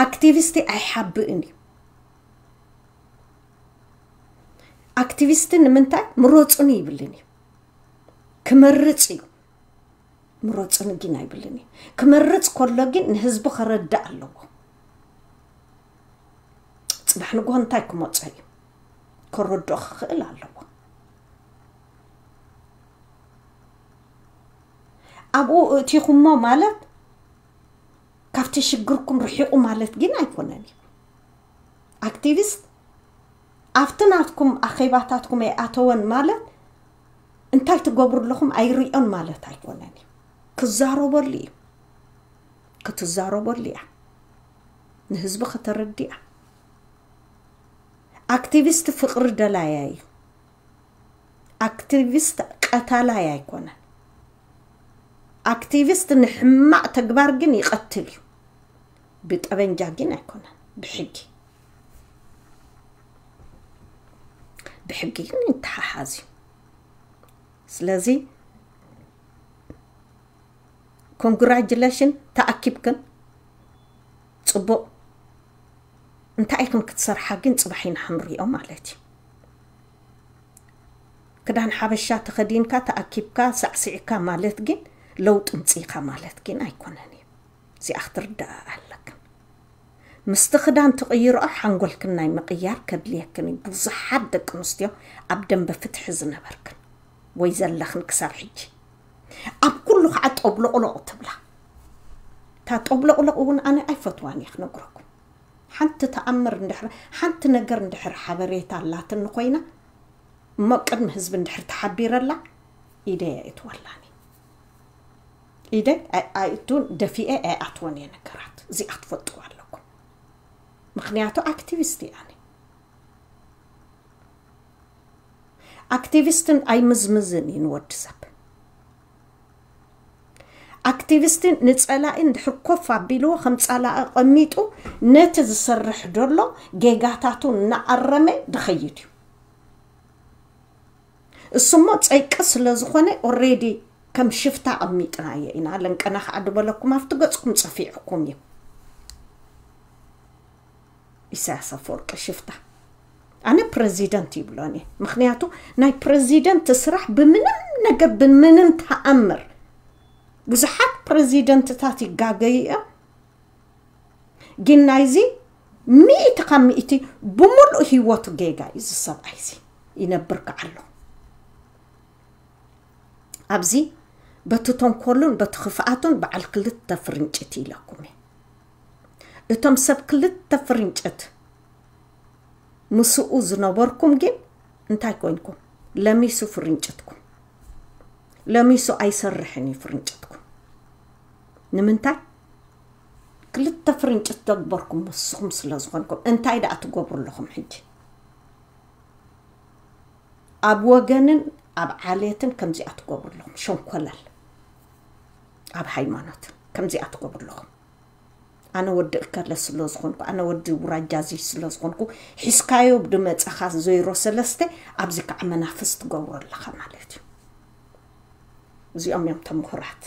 ኣክቲቪስቲ ኣይሓብእን እዩ። ኣክቲቪስቲ ንምንታይ ምረፁኒ ይብልን እዩ። ክመርፅ እዩ። ምረፁኒ ግን ኣይብልን እዩ። ክመርፅ ከሎ ግን ንህዝቢ ከረዳእ ኣለዎ። ፅባሕ ንግሆ እንታይ ክመፆ እዩ ከረድኦ ክኽእል ኣለዎ። ኣብኡ እቲኹሞ ማለት ካብቲ ሽግርኩም ርሒቑ ማለት ግን ኣይኮነን እዩ። ኣክቲቪስት ኣብቲ ናትኩም ኣኼባታትኩም ኣይኣተወን ማለት እንታይ ትገብሩ ኣለኹም ኣይርእዮን ማለት ኣይኮነን እዩ። ክዛረበሉ እዩ። ክትዛረበሉ እያ። ንህዝቢ ከተረድእ እያ። ኣክቲቪስት ፍቕሪ ደላያ እዩ። ኣክቲቪስት ቀታላይ ኣይኮነን። ኣክቲቪስት ንሕማቕ ተግባር ግን ይቐትል እዩ። ብጠበንጃ ግን ኣይኮነን። ብሕጊ፣ ብሕጊ ግን ይተሓሓዝ እዩ። ስለዚ ኮንግራጁሌሽን፣ ተኣኪብክን። ጽቡቕ። እንታይ ኢኽን ክትሰርሓ ግን ጽባሕ ኢና ክንሪኦ ማለት እዩ። ክዳን ሓበሻ ተኸዲንካ ተኣኪብካ ሳዕሲዕካ ማለት ግን ለውጢ ምጽኢኻ ማለት ግን ኣይኮነን እዩ። እዚኣ ክትርዳኣ ኣለክን። ምስቲ ክዳን ትቕይርኦ ሓንጎልክን ናይ ምቕያር ከድልየክን እዩ። ብዙሓት ደቂ ኣንስትዮ ኣብ ደንበ ፍትሒ ዝነበርክን ወይ ዘለኽን ክሳብ ሕጂ ኣብ ኩሉ ከዓ ጠብሎቕሎቕ ትብላ። እታ ጠብሎቕሎቕ እውን ኣነ ኣይፈትዋን እየ ክነግረኩም። ሓንቲ ተኣምር እንድሕር ሓንቲ ነገር እንድሕር ሓበሬታ ኣላትኒ ኮይና እሞ ቅድሚ ህዝቢ እንድሕር ተሓቢረላ ኢደይ ኣይእትወላኒ። ኢደይ ኣይ- ኣይእቱን፣ ደፊኤ ኣይኣትወን እየ ነገራት። እዚኣ ክትፈልጥዋ ኣለኩም። ምክንያቱ ኣክቲቪስት እየ ኣነ። ኣክቲቪስትን ኣይምዝምዝን እዩ ንወዲ ሰብ። ኣክቲቪስትን ንጸላኢ እንድሕር ኮፍ ኣቢልዎ ከም ጸላኢ ቀሚጡ ነቲ ዝሰርሕ ደሎ ጌጋታቱ እናኣረመ ድኸይድ እዩ። እሱሞ ጸይቂ ስለ ዝኾነ ኦሬዲ ከም ሽፍታ ኣቐሚጥናዮ ኢና። ለንቀና ከዓ ድበለኩም ኣብቲ ገጽኩም ጸፊዕኩም እዩ። ኢሳያስ ኣፈወርቂ ሽፍታ። ኣነ ፕረዚደንት ይብሎን እየ። ምክንያቱ ናይ ፕረዚደንት ስራሕ ብምንም ነገር ብምንም ተኣምር ብዙሓት ፕረዚደንትታት ይጋገዩ እዮም። ግን ናይዚ ሚእቲ ካብ ሚእቲ ብምሉእ ህይወቱ ጌጋ እዩ እዚ ሰብኣይ እዚ ይነብር ከዓሎ። ኣብዚ በቲ ተንኮሉን በቲ ክፍኣቱን በዓል ክልተ ፍርንጭት ኢለኩም እየ። እቶም ሰብ ክልተ ፍርንጭት ምስኡ ዝነበርኩም ግን እንታይ ኮይንኩም? ለሚሱ ፍርንጭትኩም። ለሚሱ ኣይሰርሕን እዩ ፍርንጭትኩም። ንምንታይ? ክልተ ፍርንጭት ተግበርኩም ንስኹም ስለ ዝኾንኩም። እንታይ ደኣ ትገብሩ ኣለኹም ሕጂ? ኣብ ወገንን ኣብ ዓሌትን ከምዚኣ ትገብሩ ኣለኹም። ሸንኮለል ኣብ ሃይማኖት ከምዚኣ ትገብሩ ኣለኹም። ኣነ ወዲ እከለ ስለ ዝኾንኩ፣ ኣነ ወዲ ውራጃዚ ስለ ዝኾንኩ፣ ሒዝካዮ ብድመፀኻ ዜሮ ሰለስተ ኣብዚ ከዓ መናፍስ ትገብሮ ኣለኻ ማለት እዩ። እዚኦም እዮም ተምሁራት።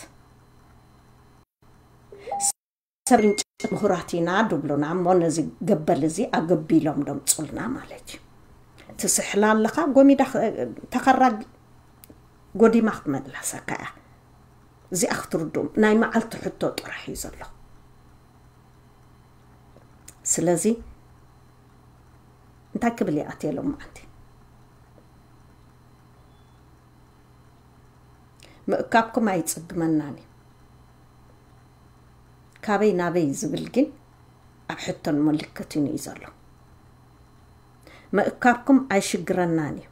ሰብ ርንጭት ምሁራት ኢና ድብሉና እሞ ነዚ ገበል እዚ ኣገቢሎም ደምፁልና ማለት እዩ። ትስሕላ ኣለኻ ጎሚዳ ኽ- ተኸራ ጎዲማ ክትመለሰካ እያ። እዚኣ ክትርድኡም ናይ መዓልቲ ሕቶ ጥራሕ እዩ ዘሎ። ስለዚ እንታይ ክብል ይኣትየ ሎም መዓልቲ ምእካብኩም ኣይጽግመናን እዩ። ካበይ ናበይ ዝብል ግን ኣብ ሕቶን ምልክትን እዩ ዘሎ። ምእካብኩም ኣይሽግረናን እዩ።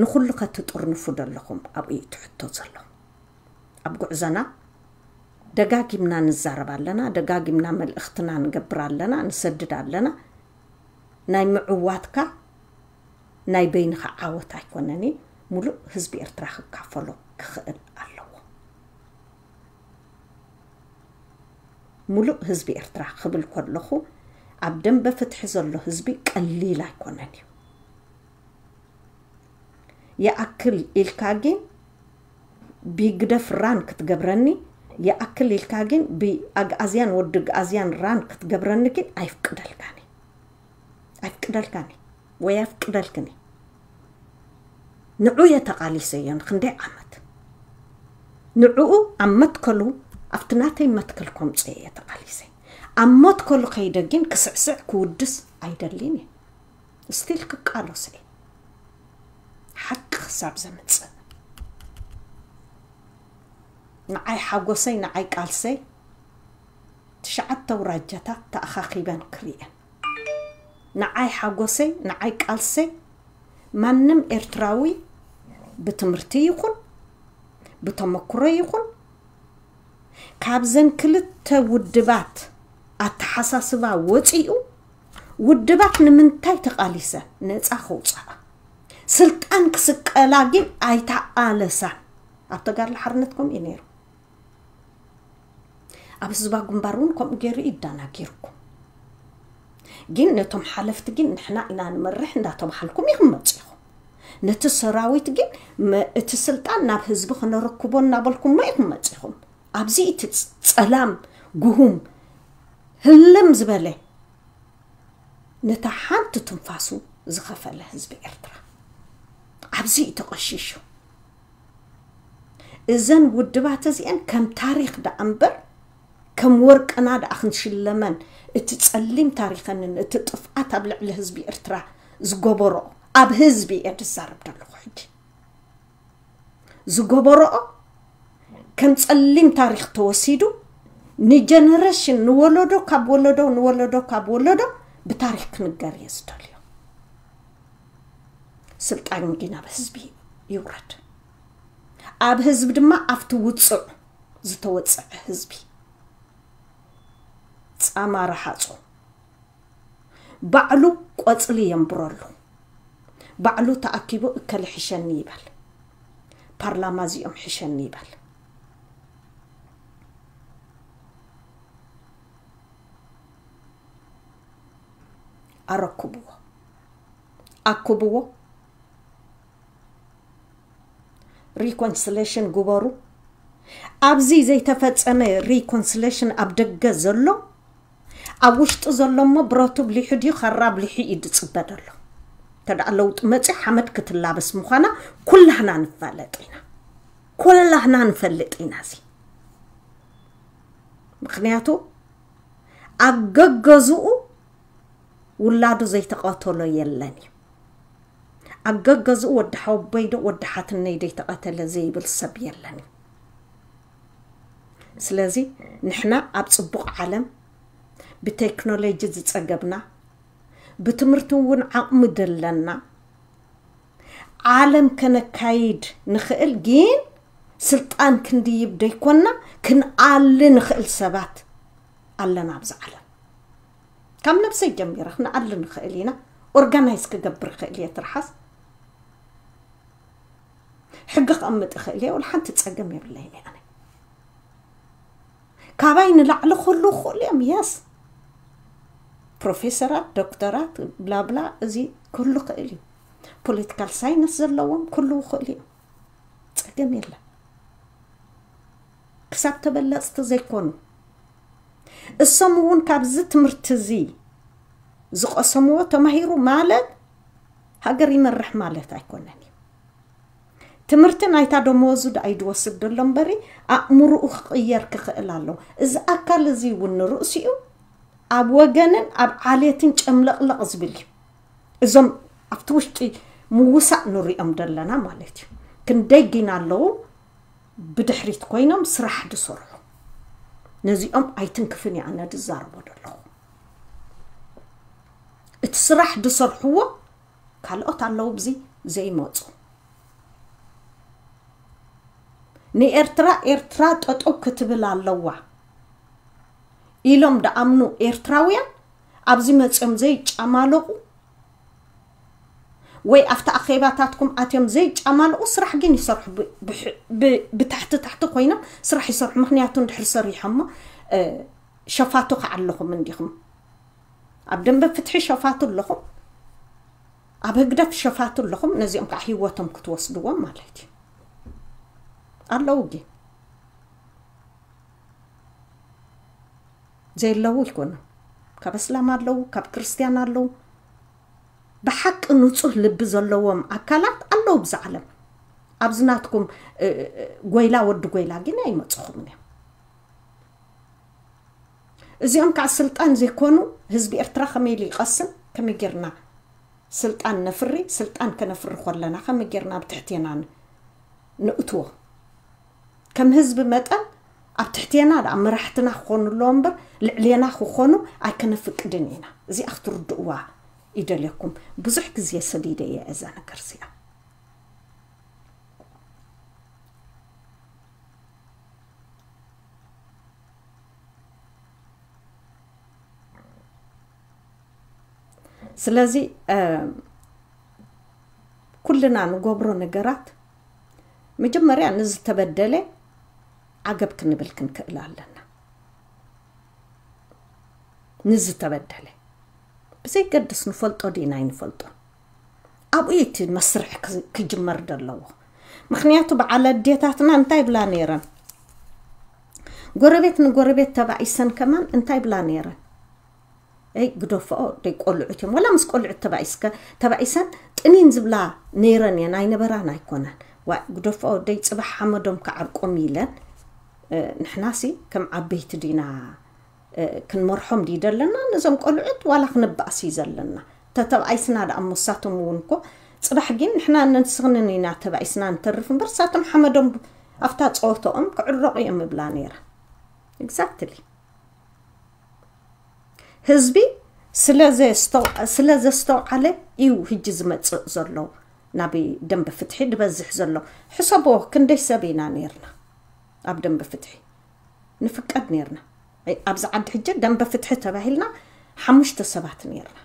ንኹሉ ከትጥርንፉ ደለኹም ኣብኡ እዩ እቲ ሕቶ ዘሎ። ኣብ ጉዕዞና ደጋጊምና ንዛረብ ኣለና፣ ደጋጊምና መልእኽትና ንገብር ኣለና፣ ንሰድድ ኣለና። ናይ ምዕዋትካ ናይ በይንኻ ዓወት ኣይኮነን፣ ሙሉእ ህዝቢ ኤርትራ ክካፈሎ ክኽእል ኣለዎ። ሙሉእ ህዝቢ ኤርትራ ክብል ከለኹ ኣብ ደንበ ፍትሒ ዘሎ ህዝቢ ቀሊል ኣይኮነን እዩ። ይኣክል ኢልካ ግን ብግደፍ ራን ክትገብረኒ፣ ይኣክል ኢልካ ግን ብኣግኣዝያን ወዲ ግኣዝያን ራን ክትገብረኒ ግን ኣይፍቅደልካን እየ። ኣይፍቅደልካን እየ ወይ ኣይፍቅደልክን እየ። ንዑ እየ ተቓሊሰዮ ንክንደይ ዓመት። ንዕኡ ኣብ መትከሉ ኣብቲ ናተይ መትከል ከምፅኦ እየ ተቓሊሰ። ኣብ መትከሉ ከይደ ግን ክስዕስዕ ክውድስ ኣይደልን እየ። ስቲል ክቃለሶ እየ ሓቂ ክሳብ ዘምፅእ። ንዓይ ሓጎሰይ ንዓይ ቃልሰይ ትሽዓተ ኣውራጃታት ተኣኻኺበን ክርእየን። ንዓይ ሓጎሰይ ንዓይ ቃልሰይ ማንም ኤርትራዊ ብትምህርቲ ይኹን ብተመክሮ ይኹን ካብዘን ክልተ ውድባት ኣተሓሳስባ ወፂኡ ውድባት ንምንታይ ተቓሊሰን ነፃ ከውፅኣ ስልጣን ክስቀላ ግን ኣይተቓለሳን። ኣብ ተጋድሎ ሓርነት ከምኡ እዩ ነይሩ። ኣብ ህዝባዊ ግንባር እውን ከምኡ ገይሩ እዩ ኣደናጊርኩም። ግን ነቶም ሓለፍቲ ግን ንሕና ኢና ንመርሕ እንዳተባሃልኩም ኢኹም መፂኹም። ነቲ ሰራዊት ግን መ- እቲ ስልጣን ናብ ህዝቢ ክነረክቦ እናበልኩሞ ኢኹም መፂኹም። ኣብዚ እቲ ፅ- ፀላም ግሁም ህልም ዝበለ ነታ ሓንቲ ትንፋሱ ዝኸፈለ ህዝቢ ኤርትራ ኣብዚ እዩ ተቐሺሹ። እዘን ውድባት እዚአን ከም ታሪኽ ደኣ እምበር ከም ወርቅና ደኣ ክንሽለመን እቲ ጸሊም ታሪኸንን እቲ ጥፍኣት ኣብ ልዕሊ ህዝቢ ኤርትራ ዝገበሮ ኣብ ህዝቢ እየ ዝዛረብ ዘለኹ ሕጂ። ዝገበረኦ ከም ጸሊም ታሪኽ ተወሲዱ ንጀነሬሽን፣ ንወለዶ ካብ ወለዶ ንወለዶ ካብ ወለዶ ብታሪኽ ክንገር እየ ዝደልዮ። ስልጣን ግን ኣብ ህዝቢ ይውረድ። ኣብ ህዝቢ ድማ ኣብቲ ውጹዕ ዝተወጸዐ ህዝቢ ጻማ ረሃጹ ባዕሉ ቆጽሊ የንብረሉ። ባዕሉ ተኣኪቡ እከለ ሕሸኒ ይበል፣ ፓርላማ እዚኦም ሕሸኒ ይበል። ኣረክብዎ፣ ኣክብዎ። ሪኮንስሌሽን ግበሩ። ኣብዚ ዘይተፈጸመ ሪኮንስሌሽን ኣብ ደገ ዘሎ፣ ኣብ ውሽጢ ዘሎ እሞ ብረቱ ብሊሑ ድዩ፣ ኸራ ብሊሑ እዩ ዝጽበ ዘሎ። እንተ ደኣ ለውጢ መጺኡ ሓመድ ክትላበስ ምዃና ኩላህና ንፋለጥ ኢና። ኩላህና ንፈልጥ ኢና እዚ። ምኽንያቱ ኣብ ገገዝኡ ውላዱ ዘይተቐተሎ የለን እዩ። ኣብ ገገዝኡ ወዲ ሓወቦይ ዶ ወዲ ሓትነይ ዶ ተቐተለ ዘይብል ሰብ የለን እዩ። ስለዚ ንሕና ኣብ ጽቡቕ ዓለም ብቴክኖሎጂ ዝጸገብና፣ ብትምህርቲ እውን ዓቕሚ ደለና፣ ዓለም ከነካይድ ንኽእል፣ ግን ስልጣን ክንድይብ ደይኮንና ክንኣሊ ንኽእል ሰባት ኣለና ኣብዚ ዓለም። ካብ ነብሰይ ጀሚረ ክንኣሊ ንኽእል ኢና። ኦርጋናይዝ ክገብር ይኽእል እየ ትርሓስ። ሕጊ ክቐምጥ ይኽእል እየ። ወላ ሓንቲ ጸገም የብለይን እየ ኣነ። ካባይ ንላዕሊ ክህሉ ይኽእሉ እዮም። የስ፣ ፕሮፌሰራት፣ ዶክተራት፣ ብላብላ፣ እዚ ክህሉ ይኽእል እዩ። ፖለቲካል ሳይንስ ዘለዎም ክህሉ ይኽእሉ እዮም። ጸገም የለን። ክሳብ ተበለጽቲ ዘይኮኑ፣ እሶም እውን ካብዚ ትምህርቲ እዚ ዝቐሰምዎ ተማሂሩ ማለት ሃገር ይመርሕ ማለት ኣይኮነን እዩ። ትምህርቲ ናይታ ደመወዙ ደኣ እዩ ዝወስድ ዘሎ እምበሪ፣ ኣእምሮኡ ክቕየር ክኽእል ኣለዎ። እዚ ኣካል እዚ እውን ንርእሲኡ ኣብ ወገንን ኣብ ዓሌትን ጨምለቕለቕ ዝብል እዩ። እዞም ኣብቲ ውሽጢ ምውሳእ ንሪኦም ዘለና ማለት እዩ። ክንደይ ግን ኣለዉ ብድሕሪት ኮይኖም ስራሕ ዝሰርሑ። ነዚኦም ኣይትንክፍን እየ ኣነ ዝዛረቦ ዘለኹ። እቲ ስራሕ ዝሰርሕዎ ካልኦት ኣለዉ ብዚ ዘይመፁ። ንኤርትራ፣ ኤርትራ ጠጠው ክትብል ኣለዋ ኢሎም ደኣምኑ ኤርትራውያን ኣብዚ መፅኦም ዘይጫማለቑ ወይ ኣብቲ ኣኼባታትኩም ኣትዮም ዘይጫማለቑ ስራሕ ግን ይሰርሑ። ብ-፣ ብሕ-፣ ብ-፣ ብታሕቲ ታሕቲ ኮይኖም ስራሕ ይሰርሑ። ምኽንያቱ እንድሕር ሰሪሖሞ፣ እ፣ ሸፋቱ ከዓ ኣለኹም እንዲኹም። ኣብ ደንበ ፍትሒ ሸፋቱ ኣለኹም፣ ኣብ ህግደፍ ሸፋቱ ኣለኹም። ነዚኦም ከዓ ህይወቶም ክትወስድዎም ማለት እዩ። ኣለዉ ግን ዘየለዉ ኣይኮኑን። ካብ እስላም ኣለዉ፣ ካብ ክርስትያን ኣለዉ። ብሓቂ ንጹህ ልቢ ዘለዎም ኣካላት ኣለዉ ብዛ ዓለም። ኣብዚ ናትኩም፣ እ፣ እ፣ ጎይላ ወዲ ጎይላ ግን ኣይመጽኹምን እዮም። እዚኦም ከዓ ስልጣን ዘይኮኑ ህዝቢ ኤርትራ ከመይ ኢሉ ይቐስን? ከመይ ጌርና ስልጣን ነፍሪ? ስልጣን ከነፍሪ ከለና ከመይ ጌርና ኣብ ትሕቴና ን-፣ ንእትዎ? ከም ህዝቢ መጠን ኣብ ትሕቴና ደኣ መራሕትና ክኾኑ ኣለዎ እምበር ልዕሌና ክኾኑ ኣይከነፍቅድን ኢና። እዚኣ ክትርድእዋ ይደልየኩም። ብዙሕ ግዜ ሰዲደ እየ እዛ ነገር እዚኣ። ስለዚ፣ እ፣ ኩልና ንገብሮ ነገራት መጀመርያ ንዝተበደለ ዓገብ ክንብል ክንክእል ኣለና። ንዝተበደለ ብዘይገድስ ንፈልጦ ዲና ኣይንፈልጦ፣ ኣብኡ እዩ እቲ መስርሕ ክ-፣ ክጅመር ዘለዎ። ምኽንያቱ በዓል ኣዴታትና እንታይ ይብላ ነይረን? ጎረቤት ንጎረቤት ተባኢሰን ከማን እንታይ ይብላ ነይረን? እይ፣ ግደፈኦ፣ ደይ ቆልዑት እዮም። ወላ ምስ ቆልዑት ተባኢስከ-፣ ተባኢሰን ጥኒን ዝብላ ነይረን እየን፣ ኣይነበራን ኣይኮነን። ዋ፣ ግደፈኦ፣ ደይ ጽባሕ ሓመዶም ክዓርቆም ኢለን፣ እ፣ ንሕናሲ ከም ዓበይቲ ዲና፣ እ፣ ክንመርሖም ድዩ ዘለና? ነዞም ቆልዑት ዋላ ክንባእስ እዩ ዘለና። ተተባኢስና ደኣ እሞ፣ እሳቶም እውን እኮ ጽባሕ ግን ንሕና ንስኽንን ኢና ተባኢስና ንተርፍ እምበር፣ ሳቶም ሓመዶም ኣብታ ጸወተኦም ክዕረቑ እዮም እብላ ነይረ። Exactly። ህዝቢ ስለ ዘስተው-፣ ስለ ዘስተውዓለ እዩ ህጂ ዝመጽእ ዘሎ ናብ ደንበ ፍትሒ ዝበዝሕ ዘሎ። ሕሰቦ፣ ክንደይ ሰብ ኢና ነይርና ኣብ ደንበ ፍትሒ ንፍቀድ ነይርና። ኣብዛ ዓዲ ሕጂ ደንበ ፍትሒ ተባሂልና ሓሙሽተ ሰባት ነይርና።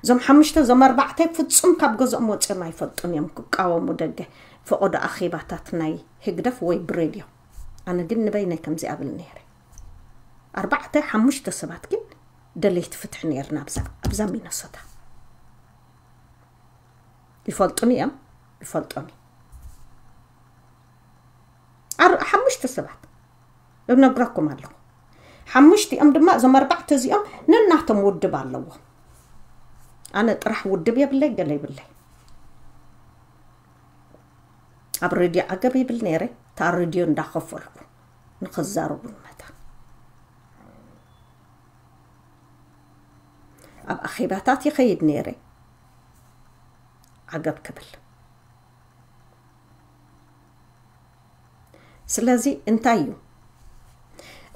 እዞም ሓሙሽተ፣ እዞም ኣርባዕተ ፍጹም ካብ ገዝኦም ወጺኦም ኣይፈልጡን እዮም ክቃወሙ ደገ ፈቐዶ ኣኼባታት ናይ ህግደፍ ወይ ብሬድዮ። ኣነ ግን ንበይነይ ከምዚ ኣብል ነይረ። ኣርባዕተ ሓሙሽተ ሰባት ግን ደለይቲ ፍትሒ ነይርና ኣብዛ፣ ኣብዛ ሚነሶታ። ይፈልጡኒ እዮም፣ ይፈልጦም። ኣር-፣ ሓሙሽተ ሰባት እነግረኩም ኣለኹ። ሓሙሽቲኦም ድማ፣ እዞም ኣርባዕተ እዚኦም ነናቶም ውድብ ኣለዎም። ኣነ ጥራሕ ውድብ የብለይ፣ ገለ ይብለይ። ኣብ ሬድዮ ዓገብ ይብል ነይረ፣ እታ ሬድዮ እንዳኸፈልኩ ንኸዛረቡ ንመታ። ኣብ ኣኼባታት ይኸይድ ነይረ፣ ዓገብ ክብል። ስለዚ እንታይ እዩ?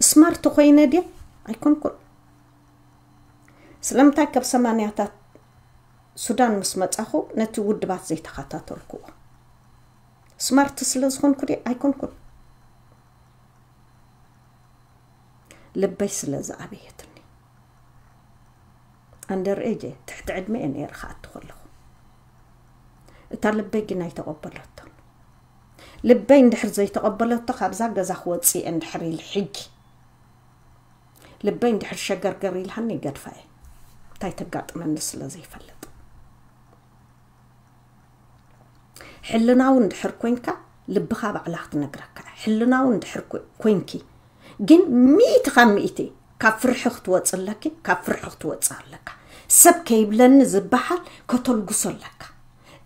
ስማርት ኮይነ ድየ? ኣይኮንኩን። ስለምንታይ ካብ ሰማንያታት ሱዳን ምስ መጻኹ ነቲ ውድባት ዘይተኸታተልኩዎ? ስማርት ስለ ዝኾንኩ ድየ? ኣይኮንኩን። ልበይ ስለ ዝኣበየትኒ። ኣንደር ኤጀ፣ ትሕቲ ዕድመ እየ ነይረ ክኣቱ ከለኹ። እታ ልበይ ግን ኣይተቐበለቶን። ልበይ እንድሕር ዘይተቐበለቶ፣ ካብዛ ገዛ ክወጽእ እየ እንድሕር ኢለ ሕጂ፣ ልበይ እንድሕር ሸገርገር ኢልሃኒ፣ ይገድፋ እየ። እንታይ ተጋጥመኒ ስለ ዘይፈልጥ። ሕልናዊ እንድሕር ኮንካ፣ ልብኻ ባዕላ ክትነግረካ። ሕልናዊ እንድሕር ኮ-፣ ኮንኪ፣ ግን ሚእቲ ካብ ሚእቲ ካብ ፍርሒ ክትወጽእ ኣለኪ፣ ካብ ፍርሒ ክትወጽእ ኣለካ። ሰብ ከይብለኒ ዝበሃል ከተልግሶ ኣለካ።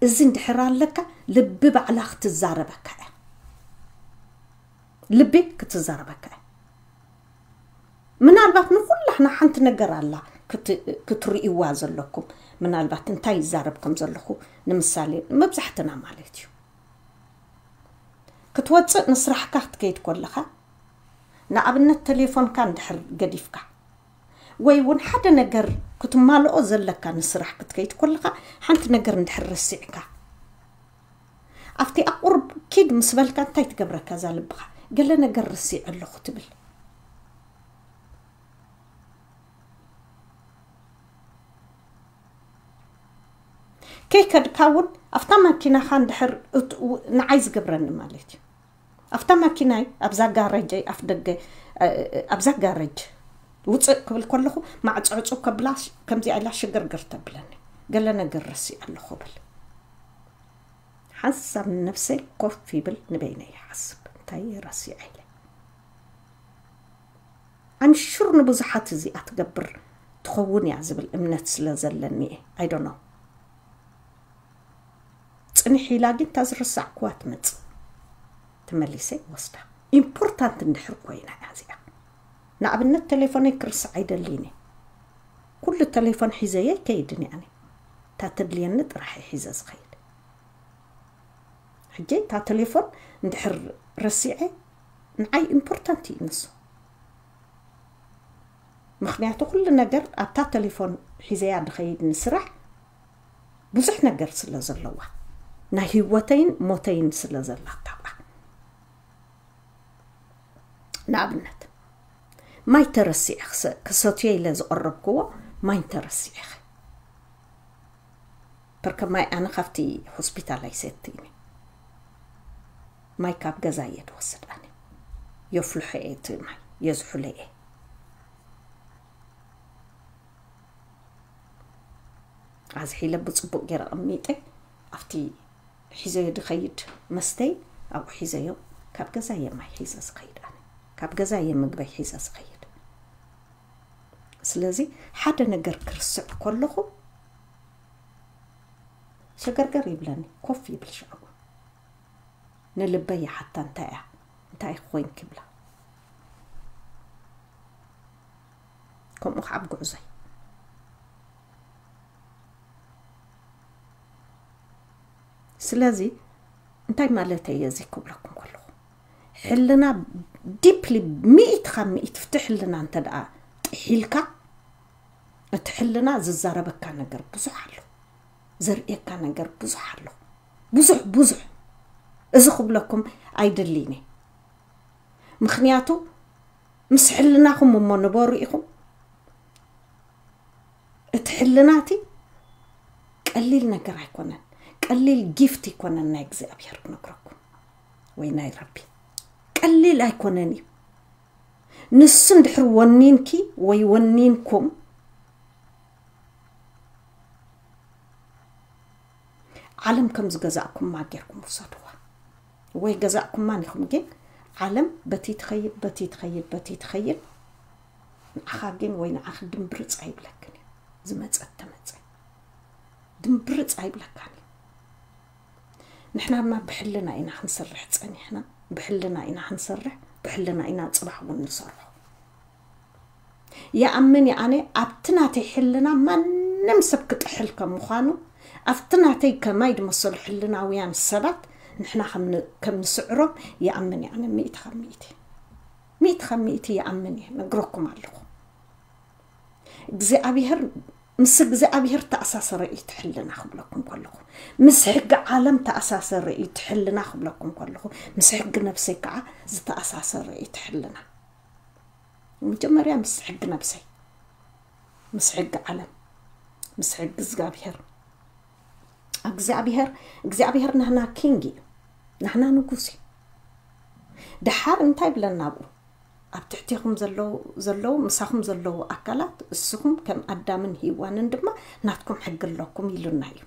እዚ እንድሕር ኣለካ፣ ልቢ ባዕላ ክትዛረበካ እያ። ልቢ ክትዛረበካ እያ። ምናልባት ንኹላህና ሓንቲ ነገር ኣላ ክት-፣ ክትርእይዋ ዘለኩም። ምናልባት እንታይ ይዛረብ ከም ዘለኹ፣ ንምሳሌ፣ መብዛሕትና ማለት እዩ። ክትወጽእ ንስራሕካ ክትከይድ ከለኻ፣ ንኣብነት፣ ቴሌፎንካ እንድሕር ገዲፍካ፣ ወይ እውን ሓደ ነገር ክትማልኦ ዘለካ ንስራሕ ክትከይድ ከለኻ፣ ሓንቲ ነገር እንድሕር ረሲዕካ፣ ኣብቲ ኣቁርብ ኪድ ምስ በልካ፣ እንታይ ትገብረካ እዛ ልብኻ? ገለ ነገር ረሲዐ ኣለኹ ትብል። ከይከድካ እውን ኣብታ ማኪናኻ እንድሕር እት-፣ ው-፣ ንዓይ ዝገብረኒ ማለት እዩ። ኣብታ ማኪናይ፣ ኣብዛ ጋረጀይ ኣፍ ደገ፣ እ፣ እ፣ ኣብዛ ጋረጅ ውፅእ ክብል ከለኹ፣ ማዕፆ ዕፁ ከብላ ሽ-፣ ከምዚኣ ኢላ ሽግርግር ተብለኒ። ገለ ነገር ረሲዐ ኣለኹ ብል። ሓንሳብ ንነብሰይ ኮፍ ይብል፣ ንበይነይ ይሓስብ፣ እንታይ እየ ረሲዐ ኢለ። I'm sure ንብዙሓት እዚኣ ትገብር ትኸውን እያ ዝብል እምነት ስለ ዘለኒ እየ። I don't know። ጽንሕ ኢላ ግን እታ ዝረሳዕኩዋ ትመጽእ። ተመሊሰ ወስዳ። ኢምፖርታንት እንድሕር ኮይና እያ እዚኣ። ንኣብነት፣ ቴሌፎነይ ክርስዕ ኣይደልይን እየ። ኩሉ ቴሌፎን ሒዘየ ኣይከይድን እየ ኣነ። እታ ተድልየኒ ጥራሕ እየ ሒዘ ዝኸይድ። ሕጂ እታ ቴሌፎን እንድሕር ረሲዐ፣ ንዓይ ኢምፖርታንት እዩ ንሱ። ምኽንያቱ፣ ኩሉ ነገር ኣብታ ቴሌፎን ሒዘያ ድኸይድ ንስራሕ ብዙሕ ነገር ስለ ዘለዋ፣ ናይ ህይወተይን ሞተይን ስለ ዘላታ። ንኣብነት፣ ማይ ተረሲዐ ክሰ-፣ ክሰትዮ ኢለ ዝቐረብክዎ ማይ ተረሲዐ። በርከ ማይ ኣነ ካብቲ ሆስፒታል ኣይሰትይን። ማይ ካብ ገዛ እየ ድወስድ ኣነ። የፍልሖ እየ እቲ ማይ፣ የዝሑሎ እየ። ኣዝሒለ ብጽቡቕ ገይረ ኣቐሚጠ፣ ኣብቲ ሒዘዮ ድኸይድ መስተይ ኣብኡ ሒዘዮ። ካብ ገዛ እየ ማይ ሒዘ ዝኸይድ ኣነ። ካብ ገዛ እየ ምግበይ ሒዘ ዝኸይድ። ስለዚ ሓደ ነገር ክርስዕ ከለኹ ሸገርገር ይብለኒ፣ ኮፍ ይብል ሽዑ። ንልበይ ይሓታ፣ እንታይ እያ? እንታይ ኮይንኪ? ይብላ። ከምኡ ከዓ ኣብ ጉዕዞይ። ስለዚ እንታይ ማለተይ እየ እዚ ክብለኩም ከለኹ፣ ሕልና ዲፕሊ፣ ሚእቲ ካብ ሚእቲ ፍቲ ሕልና እንተ ደኣ ጥሒልካ፣ እቲ ሕልና ዝዛረበካ ነገር ብዙሕ ኣሎ፣ ዘርእየካ ነገር ብዙሕ ኣሎ። ብዙሕ ብዙሕ። እዚ ክብለኩም ኣይደልይን እየ። ምኽንያቱ ምስ ሕልናኹም እሞ ንበሩ ኢኹም። እቲ ሕልና እቲ ቀሊል ነገር ኣይኮነን። ቀሊል ጊፍት ኣይኮነን ናይ እግዚኣብሔር ክነግረኩም፣ ወይ ናይ ረቢ። ቀሊል ኣይኮነን እዩ። ንሱ እንድሕር ወኒንኪ ወይ ወኒንኩም፣ ዓለም ከም ዝገዛእኩማ ጌርኩም ውሰድዋ። ወይ ገዛእኩማን ኢኹም፣ ግን ዓለም በቲ ትኸይድ፣ በቲ ትኸይድ፣ በቲ ትኸይድ፣ ንዓኻ ግን ወይ ንዓኺ ድምብርጽ ኣይብለክን እዩ። ዝመጸ ተመጸ። ድምብርጽ ኣይብለካን እዩ። ንሕና ድማ ብሕልና ኢና ክንሰርሕ ጸኒሕና፣ ብሕልና ኢና ክንሰርሕ፣ ብሕልና ኢና ጽባሕ እውን ንሰርሖ። ይኣምን እየ ኣነ ኣብቲ ናተይ ሕልና ማንም ሰብ ክጥሕል ከም ምዃኑ፣ ኣብቲ ናተይ ከማይ ዝመሰሉ ሕልናውያን ሰባት ንሕና ከም ን-፣ ከም ንስዕሮም ይኣምን እየ ኣነ ሚእቲ ካብ ሚእቲ። ሚእቲ ካብ ሚእቲ ይኣምን እየ፣ ነግረኩም ኣለኹ። እግዚኣብሔር፣ ምስ እግዚኣብሔር ተኣሳሰረ እዩ እቲ ሕልና ክብለኩም ከለኹ፣ ምስ ሕጊ ዓለም ተኣሳሰረ እዩ እቲ ሕልና ክብለኩም ከለኹ፣ ምስ ሕጊ ነብሰይ ከዓ ዝተኣሳሰረ እዩ እቲ ሕልና። መጀመርያ ምስ ሕጊ ነብሰይ፣ ምስ ሕጊ ዓለም፣ ምስ ሕጊ እግዚኣብሔር። እግዚኣብሔር፣ እግዚኣብሔር ናህና ኪንግ እዩ፣ ናህና ንጉስ እዩ። ደሓር እንታይ ብለና ኣብኡ? ኣብ ትሕቴኹም ዘለዉ፣ ዘለዉ፣ ምሳኹም ዘለዉ ኣካላት፣ እስኹም ከም ኣዳምን ሄዋንን ድማ ናትኩም ሕጊ ኣለኩም ኢሉና እዩ።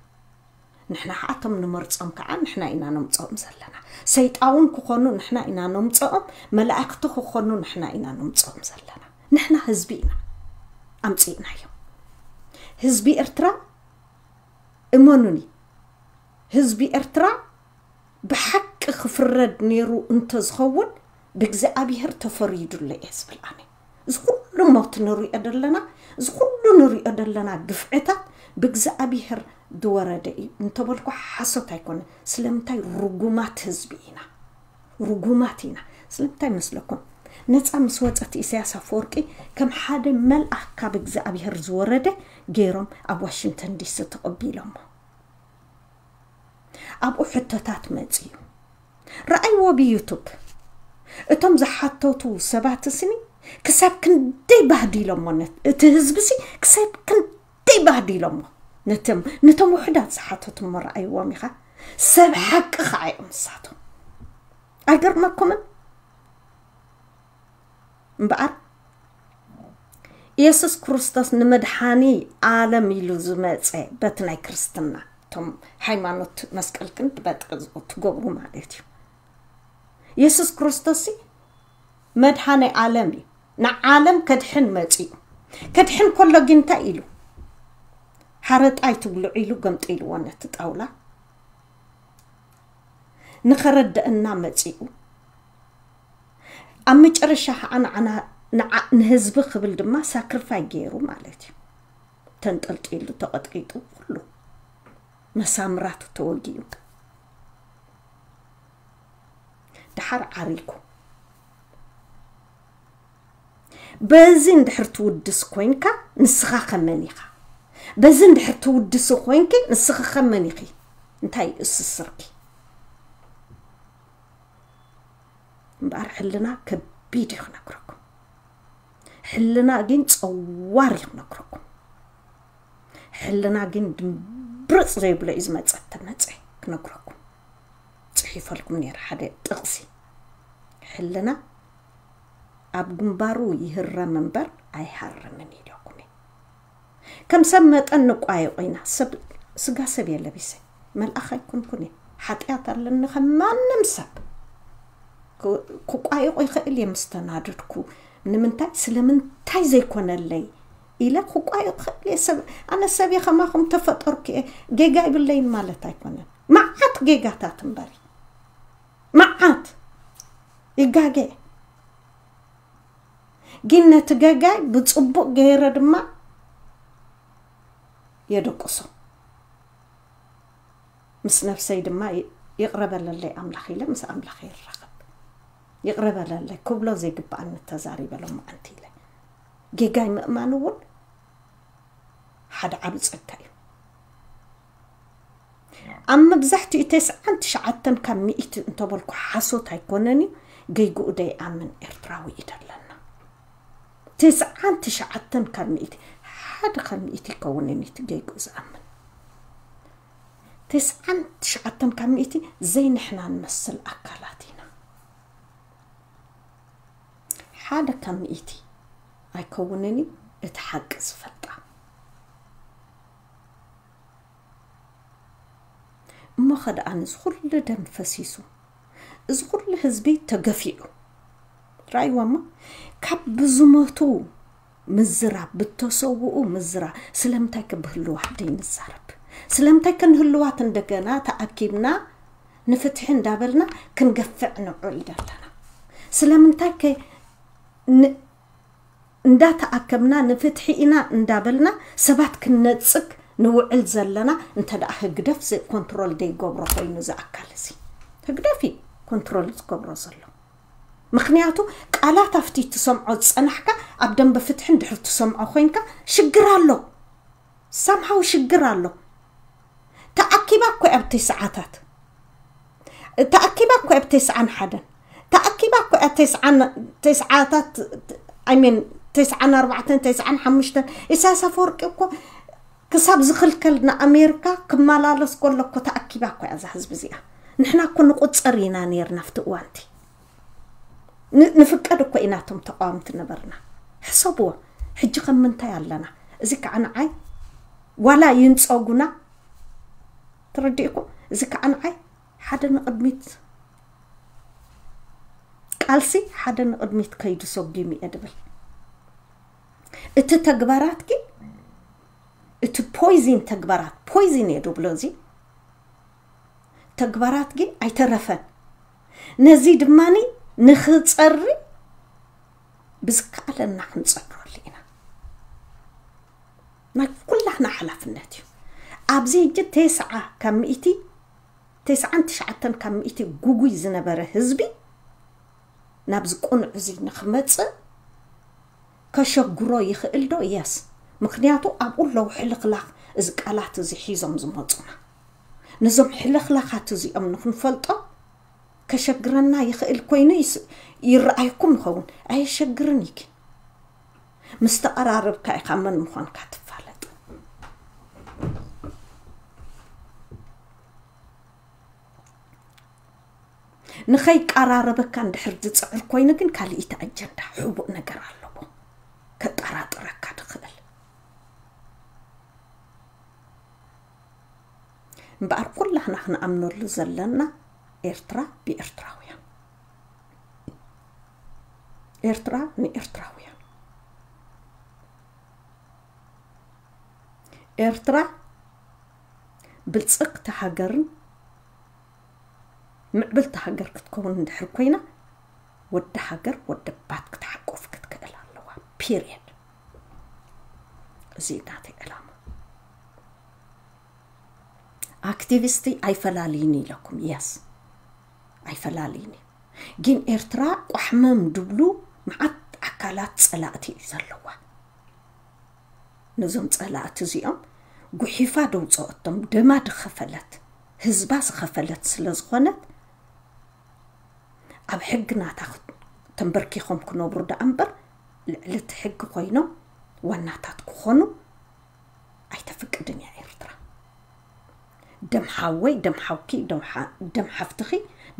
ንሕና ኸዓ እቶም ንመርጾም ከዓ ንሕና ኢና ነምጽኦም ዘለና። ሰይጣውን ክኾኑ ንሕና ኢና ነምጽኦም፣ መላእክቲ ክኾኑ ንሕና ኢና ነምጽኦም ዘለና። ንሕና ህዝቢ ኢና ኣምጺእናዮም። ህዝቢ ኤርትራ፣ እመኑኒ፣ ህዝቢ ኤርትራ ብሓቂ ክፍረድ ነይሩ እንተዝኸውን፣ ብእግዚኣብሔር ተፈሪዱለ እየ ዝብል ኣነ። እዚ ኩሉ ሞት ንሪኦ ዘለና፣ እዚ ኩሉ ንሪኦ ዘለና ግፍዕታት ብእግዚኣብሔር ዝወረደ እዩ እንተበልኩ ሓሶት ኣይኮነ። ስለምንታይ? ርጉማት ህዝቢ ኢና፣ ርጉማት ኢና። ስለምንታይ መስለኩም? ነፃ ምስ ወፀት ኢሳያስ ኣፈወርቂ ከም ሓደ መልኣኽ ካብ እግዚኣብሔር ዝወረደ ገይሮም ኣብ ዋሽንግተን ዲሲ ተቐቢሎሞ። ኣብኡ ሕቶታት መፅዩ። ረኣይዎ ብዩቱብ። እቶም ዝሓተቱ ሰባት ስኒ ክሳብ ክንደይ ባህዲሎሞ፣ ነት-፣ እቲ ህዝቢ ሲ ክሳብ ክንደይ ባህዲሎሞ። ነቶም፣ ነቶም ውሑዳት ዝሓተቱ እሞ ረኣይዎም ኢኻ። ሰብ ሓቂ ኸዓ እዮም ንሳቶም። ኣይገርመኩምን? እምበኣር ኢየሱስ ክርስቶስ ንመድሓኒ ዓለም ኢሉ ዝመጸ፣ በቲ ናይ ክርስትና፣ እቶም ሃይማኖት መስቀል ክንዲ በጥቂ ትገብሩ ማለት እዩ። ኢየሱስ ክርስቶስ ሲ መድሓኒ ዓለም እዩ። ንዓለም ከድሕን መጺኡ። ከድሕን ከሎ ግን እንታይ ኢሉ? ሓረጣ ኣይትብልዑ ኢሉ ገምጢልዎ ነቲ ጣውላ። ንኸረድአና መጺኡ። ኣብ መጨረሻ ኸዓ ንዓና፣ ንዓ-፣ ንህዝቢ ክብል ድማ ሳክሪፋይ ገይሩ ማለት እዩ። ተንጠልጢሉ፣ ተቐጥቂጡ፣ ኩሉ መሳምራቱ ተወጊኡ። ደሓር ዓሪጉ። በዚ እንድሕር ትውድስ ኮይንካ፣ ንስኻ ከመን ኢኻ? በዚ እንድሕር ትውድሲ ኮይንኪ፣ ንስኺ ከመን ኢኺ? እንታይ እሱ ስርኪ? እምበኣር ሕልና ከቢድ እዩ ክነግረኩም። ሕልና ግን ጸዋር እዩ ክነግረኩም። ሕልና ግን ድምብርጽ ዘይብሎ እዩ ዝመጸ፣ ተመጸ ክነግረኩም። ጽሒፈልኩም ነይረ ሓደ ጥቕሲ። ሕልና ኣብ ግንባሩ ይህረም እምበር ኣይሃርምን ኢለኩም እየ። ከም ሰብ መጠን ንቋየቆ ኢና። ሰብ፣ ስጋ ሰብ እየ ለቢሰ። መልኣኽ ኣይኮንኩን እየ። ሓጢኣት ኣለኒ ከም ማንም ሰብ። ክ-፣ ክቋየቆ ይኽእል እየ ምስ ተናደድኩ። ንምንታይ? ስለምንታይ ዘይኮነለይ ኢለ ክቋየቆ ይኽእል እየ። ሰብ፣ ኣነ ሰብ እየ፣ ከማኹም ተፈጠርኩ እየ። ጌጋ ይብለይን ማለት ኣይኮነን። መዓት ጌጋታት እምበሪ። መዓት ይጋገ። ግን ነቲ ገጋይ ብጽቡቕ ገይረ ድማ የደቅሶ። ምስ ነፍሰይ ድማ ይቕረ በለለይ ኣምላኽ ኢለ ምስ ኣምላኽ ይራኸብ። ይቕረ በለለይ፣ ክብሎ ዘይግብኣኒ ተዛሪበ ሎማዓንቲ ኢለ። ጌጋይ ምእማን እውን ሓደ ዓቢ ጸጋ እዩ። ኣብ መብዛሕትኡ ተስዓን ትሽዓተን ካብ ሚእቲ እንተበልኩ ሓሶት ኣይኮነን እዩ፣ ገይግኡ ደይኣምን ኤርትራዊ እዩ ደለና። ተስዓን ትሽዓተን ካብ ሚእቲ፣ ሓደ ካብ ሚእቲ ይከውንን እዩ እቲ ገይግኡ ዝኣምን። ተስዓን ትሽዓተን ካብ ሚእቲ ዘይንሕና ንመስል ኣካላት ኢና። ሓደ ካብ ሚእቲ ኣይከውንን እዩ እቲ ሓቂ ዝፈልጣ። እሞ ኸ ደኣ እዚ ኩሉ ደም ፈሲሱ፣ እዚ ኩሉ ህዝቢ ተገፊዑ፣ ራእይዋ እሞ ካብ ብዝሞቱ ምዝራብ፣ ብተሰውኡ ምዝራብ፣ ስለምንታይ ከ ብህልዋት ደይንዛረብ? ስለምንታይ ከ ንህልዋት እንደገና ተኣኪብና ንፍትሒ እንዳበልና ክንገፍዕ ንውዕል ዘለና? ስለምንታይ ከ ን-፣ እንዳተኣከብና ንፍትሒ ኢና እንዳበልና ሰባት ክንነጽግ ንውዕል ዘለና? እንተ ደኣ ህግደፍ ዚ-፣ ኮንትሮል ደይገብሮ ኮይኑ ዝኣካል እዚ፣ ህግደፍ እዩ ኮንትሮል ዝገብሮ ዘሎ። ምኽንያቱ ቃላት ኣብቲ ትሰምዖ ዝጸናሕካ ኣብ ደንበ ፍትሒ እንድሕር ትሰምዖ ኮይንካ ሽግር ኣሎ። ሳምሃው ሽግር ኣሎ። ተኣኪባ እኮ እያ ኣብ ተስዓታት፣ ተኣኪባ እኮ እያ ኣብ ተስዓን ሓደን፣ ተኣኪባ እኮ እያ ኣብ ተስዓን፣ ተስዓታት፣ I mean፣ ተስዓን ኣርባዕተን፣ ተስዓን ሓሙሽተን። ኢሳያስ ኣፈወርቂ እኮ ክሳብ ዝኽልከል ንኣሜሪካ ክመላለስ ከሎ እኮ ተኣኪባ እኮ እያ እዛ ህዝቢ እዚኣ። ንሕና እኮ ንቁጸር ኢና ነይርና ኣብቲ እዋንቲ። ን-፣ ንፍቀድ እኮ ኢና እቶም ተቃወምቲ ነበርና። ሕሰብዎ፣ ሕጂ ከም ምንታይ ኣለና? እዚ ከዓ ንዓይ ዋላ ይንጸጉና፣ ተረዲእኩም? እዚ ከዓ ንዓይ ሓደ ንቕድሚት ቃልሲ፣ ሓደ ንቕድሚት ከይዱ ሰጒሙ እየ ድብል። እቲ ተግባራት ግን፣ እቲ ፖይዚን ተግባራት፣ ፖይዚን እየ ድብሎ እዚ፣ ተግባራት ግን ኣይተረፈን። ነዚ ድማኒ ንኽጸሪ ብዝከኣለና ክንጸርፈሉ ኢና። ናይ ኩላህና ሓላፍነት እዩ። ኣብዚ ሕጂ ተስዓ ካብ ሚእቲ፣ ተስዓን ትሽዓተን ካብ ሚእቲ ጉጉይ ዝነበረ ህዝቢ ናብዚ ቁኑዕ እዚ ንኽመጽእ ከሸግሮ ይኽእል ዶ? የስ። ምኽንያቱ ኣብኡ ኣለዉ ሕልኽላኽ እዚ ቃላት እዚ ሒዞም ዝመጹና። ነዞም ሕልኽላኻት እዚኦም ንኽንፈልጦ ከሸግረና ይኽእል ኮይኑ ይስ-፣ ይረኣይኩም ይኸውን። ኣየሸግርን እዩ ግን። ምስ ተቐራረብካ ኢኻ መን ምዃንካ ትፋለጥ። ንኸይቀራረበካ እንድሕር ዝጽዕር ኮይኑ ግን ካልኢቲ ኣጀንዳ ሕቡእ ነገር ኣለዎ። ከጠራጥረካ ድኽእል። እምበኣር ኩላህና ክንኣምነሉ ዘለና ኤርትራ ብኤርትራውያን። ኤርትራ ንኤርትራውያን። ኤርትራ ብልጽግቲ ሃገርን ምዕብልቲ ሃገር ክትከውን እንድሕር ኮይና፣ ወዲ ሃገር ወዲ ባት ክትሓቁፍ ክትክእል ኣለዋ። ፒሪየድ። እዚ እዩ ናተይ ዕላማ። ኣክቲቪስቲ ኣይፈላልይኒ ኢለኩም። የስ፣ ኣይፈላልይኒ። ግን ኤርትራ ቋሕመም ድብሉ መዓት ኣካላት ጸላእቲ እዩ ዘለዋ። ነዞም ጸላእቲ እዚኦም ጉሒፋ ደውፅኦቶም፣ ደማ ድኸፈለት፣ ህዝባ ዝኸፈለት ስለ ዝኾነት፣ ኣብ ሕጊ ናታ ክት-፣ ተንበርኪኾም ክነብሩ ደኣ እምበር፣ ልዕሊ እቲ ሕጊ ኮይኖም ዋናታት ክኾኑ ኣይተፍቅድን እያ ኤርትራ። ደም ሓወይ፣ ደም ሓውኪ፣ ደም ሓ-፣ ደም ሓፍትኺ፣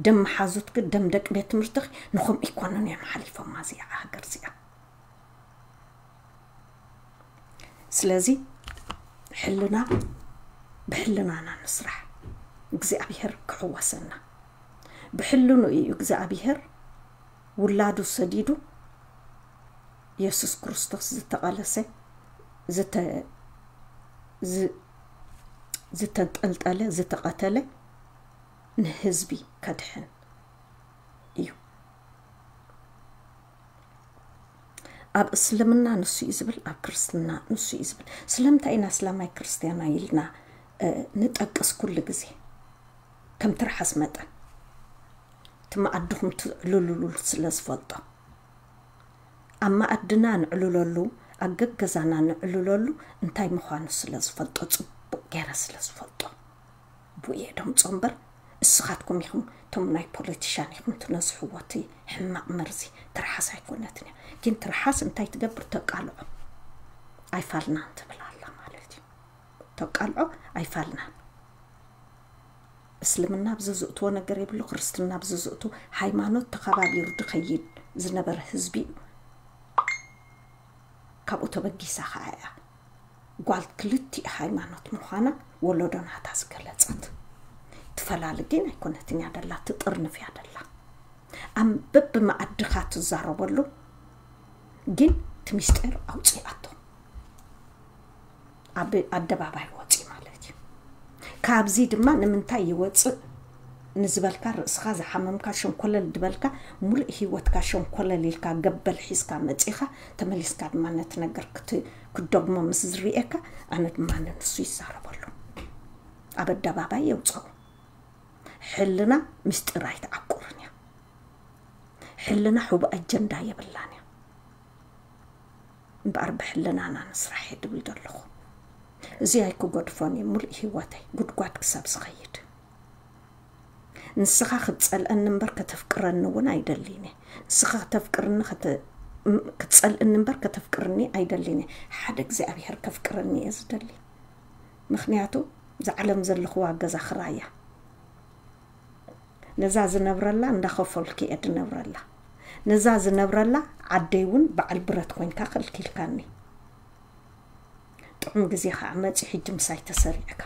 ደም መሓዙትኪ፣ ደም ደቂ ቤት ትምህርትኺ ንኸምኡ ኣይኮኑን እዮም ሓሊፎማ እዚኣ ሃገር እዚኣ። ስለዚ ሕልና ብሕልናና ንስራሕ፣ እግዚኣብሔር ክሕወሰና። ብሕልኑ እዩ እግዚኣብሔር ውላዱ ሰዲዱ፣ የሱስ ክርስቶስ ዝተቐለሰ፣ ዝተ-፣ ዝ-፣ ዝተንጠልጠለ፣ ዝተቐተለ ንህዝቢ ከድሕን እዩ። ኣብ እስልምና ንሱ እዩ ዝብል፣ ኣብ ክርስትና ንሱ እዩ ዝብል። ስለምንታይ ኢና እስላማይ ክርስትያናይ ኢልና፣ እ፣ ንጠቅስ ኩሉ ግዜ? ከም ትርሓስ መጠን እቲ መኣድኹም ትዕልሉሉ ስለ ዝፈልጦ፣ ኣብ መኣድና ንዕልለሉ፣ ኣብ ገገዛና ንዕልለሉ እንታይ ምዃኑ ስለ ዝፈልጦ፣ ጽቡቕ ገይረ ስለ ዝፈልጦ፣ ብኡ እየ ደምጾ እምበር፣ እስኻትኩም ኢኹም እቶም ናይ ፖለቲሻን ኢኹም ትነዝሕዎ እቲ ሕማቕ መርዚ፣ ትርሓስ ኣይኮነትን እያ። ግን ትርሓስ እንታይ ትገብር? ተቃልዖ። ኣይፋልናን ትብል ኣላ ማለት እዩ። ተቃልዖ ኣይፋልናን። እስልምና ኣብዚ ዝእትዎ ነገር የብሉ፣ ክርስትና ኣብዚ ዝእቱ፣ ሃይማኖት ተኸባቢሩ ድኸይድ ዝነበረ ህዝቢ እዩ። ካብኡ ተበጊሳ ኸዓ እያ ጓል ክልቲኡ ሃይማኖት ምዃና ወለዶ ናታ ዝገለጸት። ትፈላሊ ግን ኣይኮነትን እያ ደላ፣ ትጥርንፍ እያ ደላ። ኣብ በብመኣድኻ ትዛረበሉ ግን እቲ ሚስጢር ኣውፂኣቶ ኣብ ኣደባባይ ወፂ ማለት እዩ። ካብዚ ድማ ንምንታይ ይወፅእ ንዝበልካ፣ ርእስኻ ዝሓመምካ፣ ሸንኮለል ዝበልካ፣ ሙሉእ ህይወትካ ሸንኮለል ኢልካ ገበል ሒዝካ መፂኻ፣ ተመሊስካ ድማ ነቲ ነገር ክት-፣ ክትደግሞ ምስ ዝርኤካ፣ ኣነ ድማ ንሱ ይዛረበሉ፣ ኣብ ኣደባባይ የውፅኦ። ሕልና ምስጢር ኣይትዓቁርን እያ። ሕልና ሕቡእ ኣጀንዳ የብላን እያ። እምበኣር ብሕልናና ንስራሕ እየ ድብል ዘለኹ። እዚ ኣይክገድፎን እየ ሙሉእ ህይወተይ፣ ጉድጓድ ክሳብ ዝኸይድ። ንስኻ ክትጸልአኒ እምበር ከተፍቅረኒ እውን ኣይደልን እየ። ንስኻ ከተፍቅርኒ ከተ-፣ ም-፣ ክትጸልእኒ እምበር ከተፍቅርኒ ኣይደልን እየ። ሓደ እግዚኣብሔር ከፍቅረኒ እየ ዝደሊ። ምኽንያቱ እዛ ዓለም ዘለኽዋ ገዛ ክራይ እያ። ነዛ ዝነብረላ እንዳኸፈልኩ እየ ድነብረላ። ነዛ ዝነብረላ ዓደይ እውን በዓል ብረት ኮይንካ ከልኪልካኒ። ጥዑም ግዜ ከዓ መፂ፣ ሕጂ ምሳይ ተሰሪዕካ።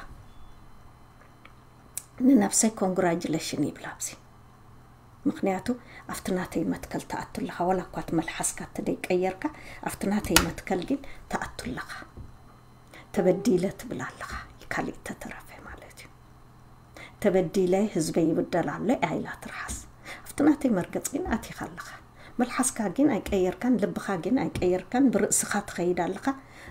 ንነብሰይ ኮንግራጁሌሽን ይብላ ኣብዚ። ምኽንያቱ ኣብቲ ናተይ መትከል ትኣቱ ኣለኻ፣ ዋላ እኳ እቲ መልሓስካ ተደይቀየርካ፣ ኣብቲ ናተይ መትከል ግን ትኣቱ ኣለኻ። ተበዲለ ትብል ኣለኻ፣ ካሊእ ተተረፈ ማለት እዩ። ተበዲለ፣ ህዝበይ ይብደል ኣሎ እያ ኢላ ትርሓስ። ኣብቲ ናተይ መርገፂ ግን ኣቲኻ ኣለኻ። መልሓስካ ግን ኣይቀየርካን፣ ልብኻ ግን ኣይቀየርካን፣ ብርእስኻ ትኸይድ ኣለኻ።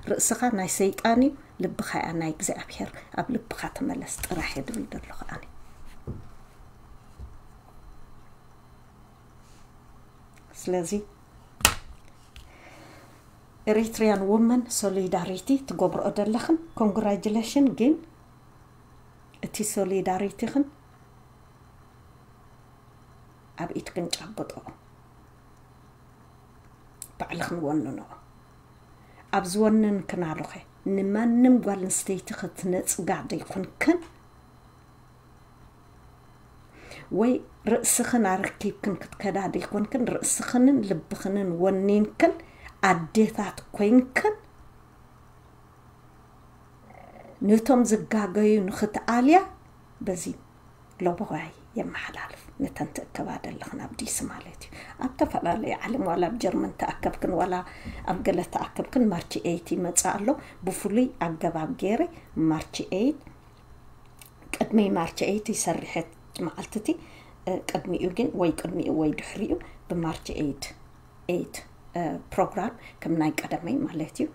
ርእስኻ ናይ ሰይጣን እዩ፣ ልብኻ እያ ናይ እግዚኣብሔር። ኣብ ልብኻ ተመለስ ጥራሕ እየ ድብል ዘለኹ ኣነ። ስለዚ ኤሪትሪያን ውመን ሶሊዳሪቲ ትገብርኦ ዘለኽን ኮንግራጁሌሽን፣ ግን እቲ ሶሊዳሪቲኽን ኣብ ኢድክን ጨብጥኦ፣ ባዕልኽን ወንንኦ። ኣብ ዝወንን ክናሉኸ ንማንም ጓል ኣንስተይቲ ክትነጽጋ ደይኮንክን ወይ ርእስኽን ኣረኪብክን ክትከዳ ደይኮንክን፣ ርእስኽንን ልብኽንን ወኒንክን ኣዴታት ኮይንክን ነቶም ዝጋገዩ ንኽትኣልያ በዚ ለቦዋይ የመሓላልፍ። ነተን ትእከባ ዘለኽን ኣብ ዲሲ ማለት እዩ። ኣብ ተፈላለየ ዓለም፣ ዋላ ኣብ ጀርመን ተኣከብክን ዋላ ኣብ ገለ ተኣከብክን፣ ማርች ኤይት ይመጽእ ኣሎ። ብፍሉይ ኣገባብ ገይረ ማርች ኤይት፣ ቅድሚ ማርች ኤይት ይሰርሐት መዓልቲ እቲ፣ እ፣ ቅድሚኡ ግን ወይ ቅድሚኡ ወይ ድሕሪኡ ብማርች ኤይት፣ ኤይት፣ እ፣ ፕሮግራም ከም ናይ ቀደመይ ማለት እዩ።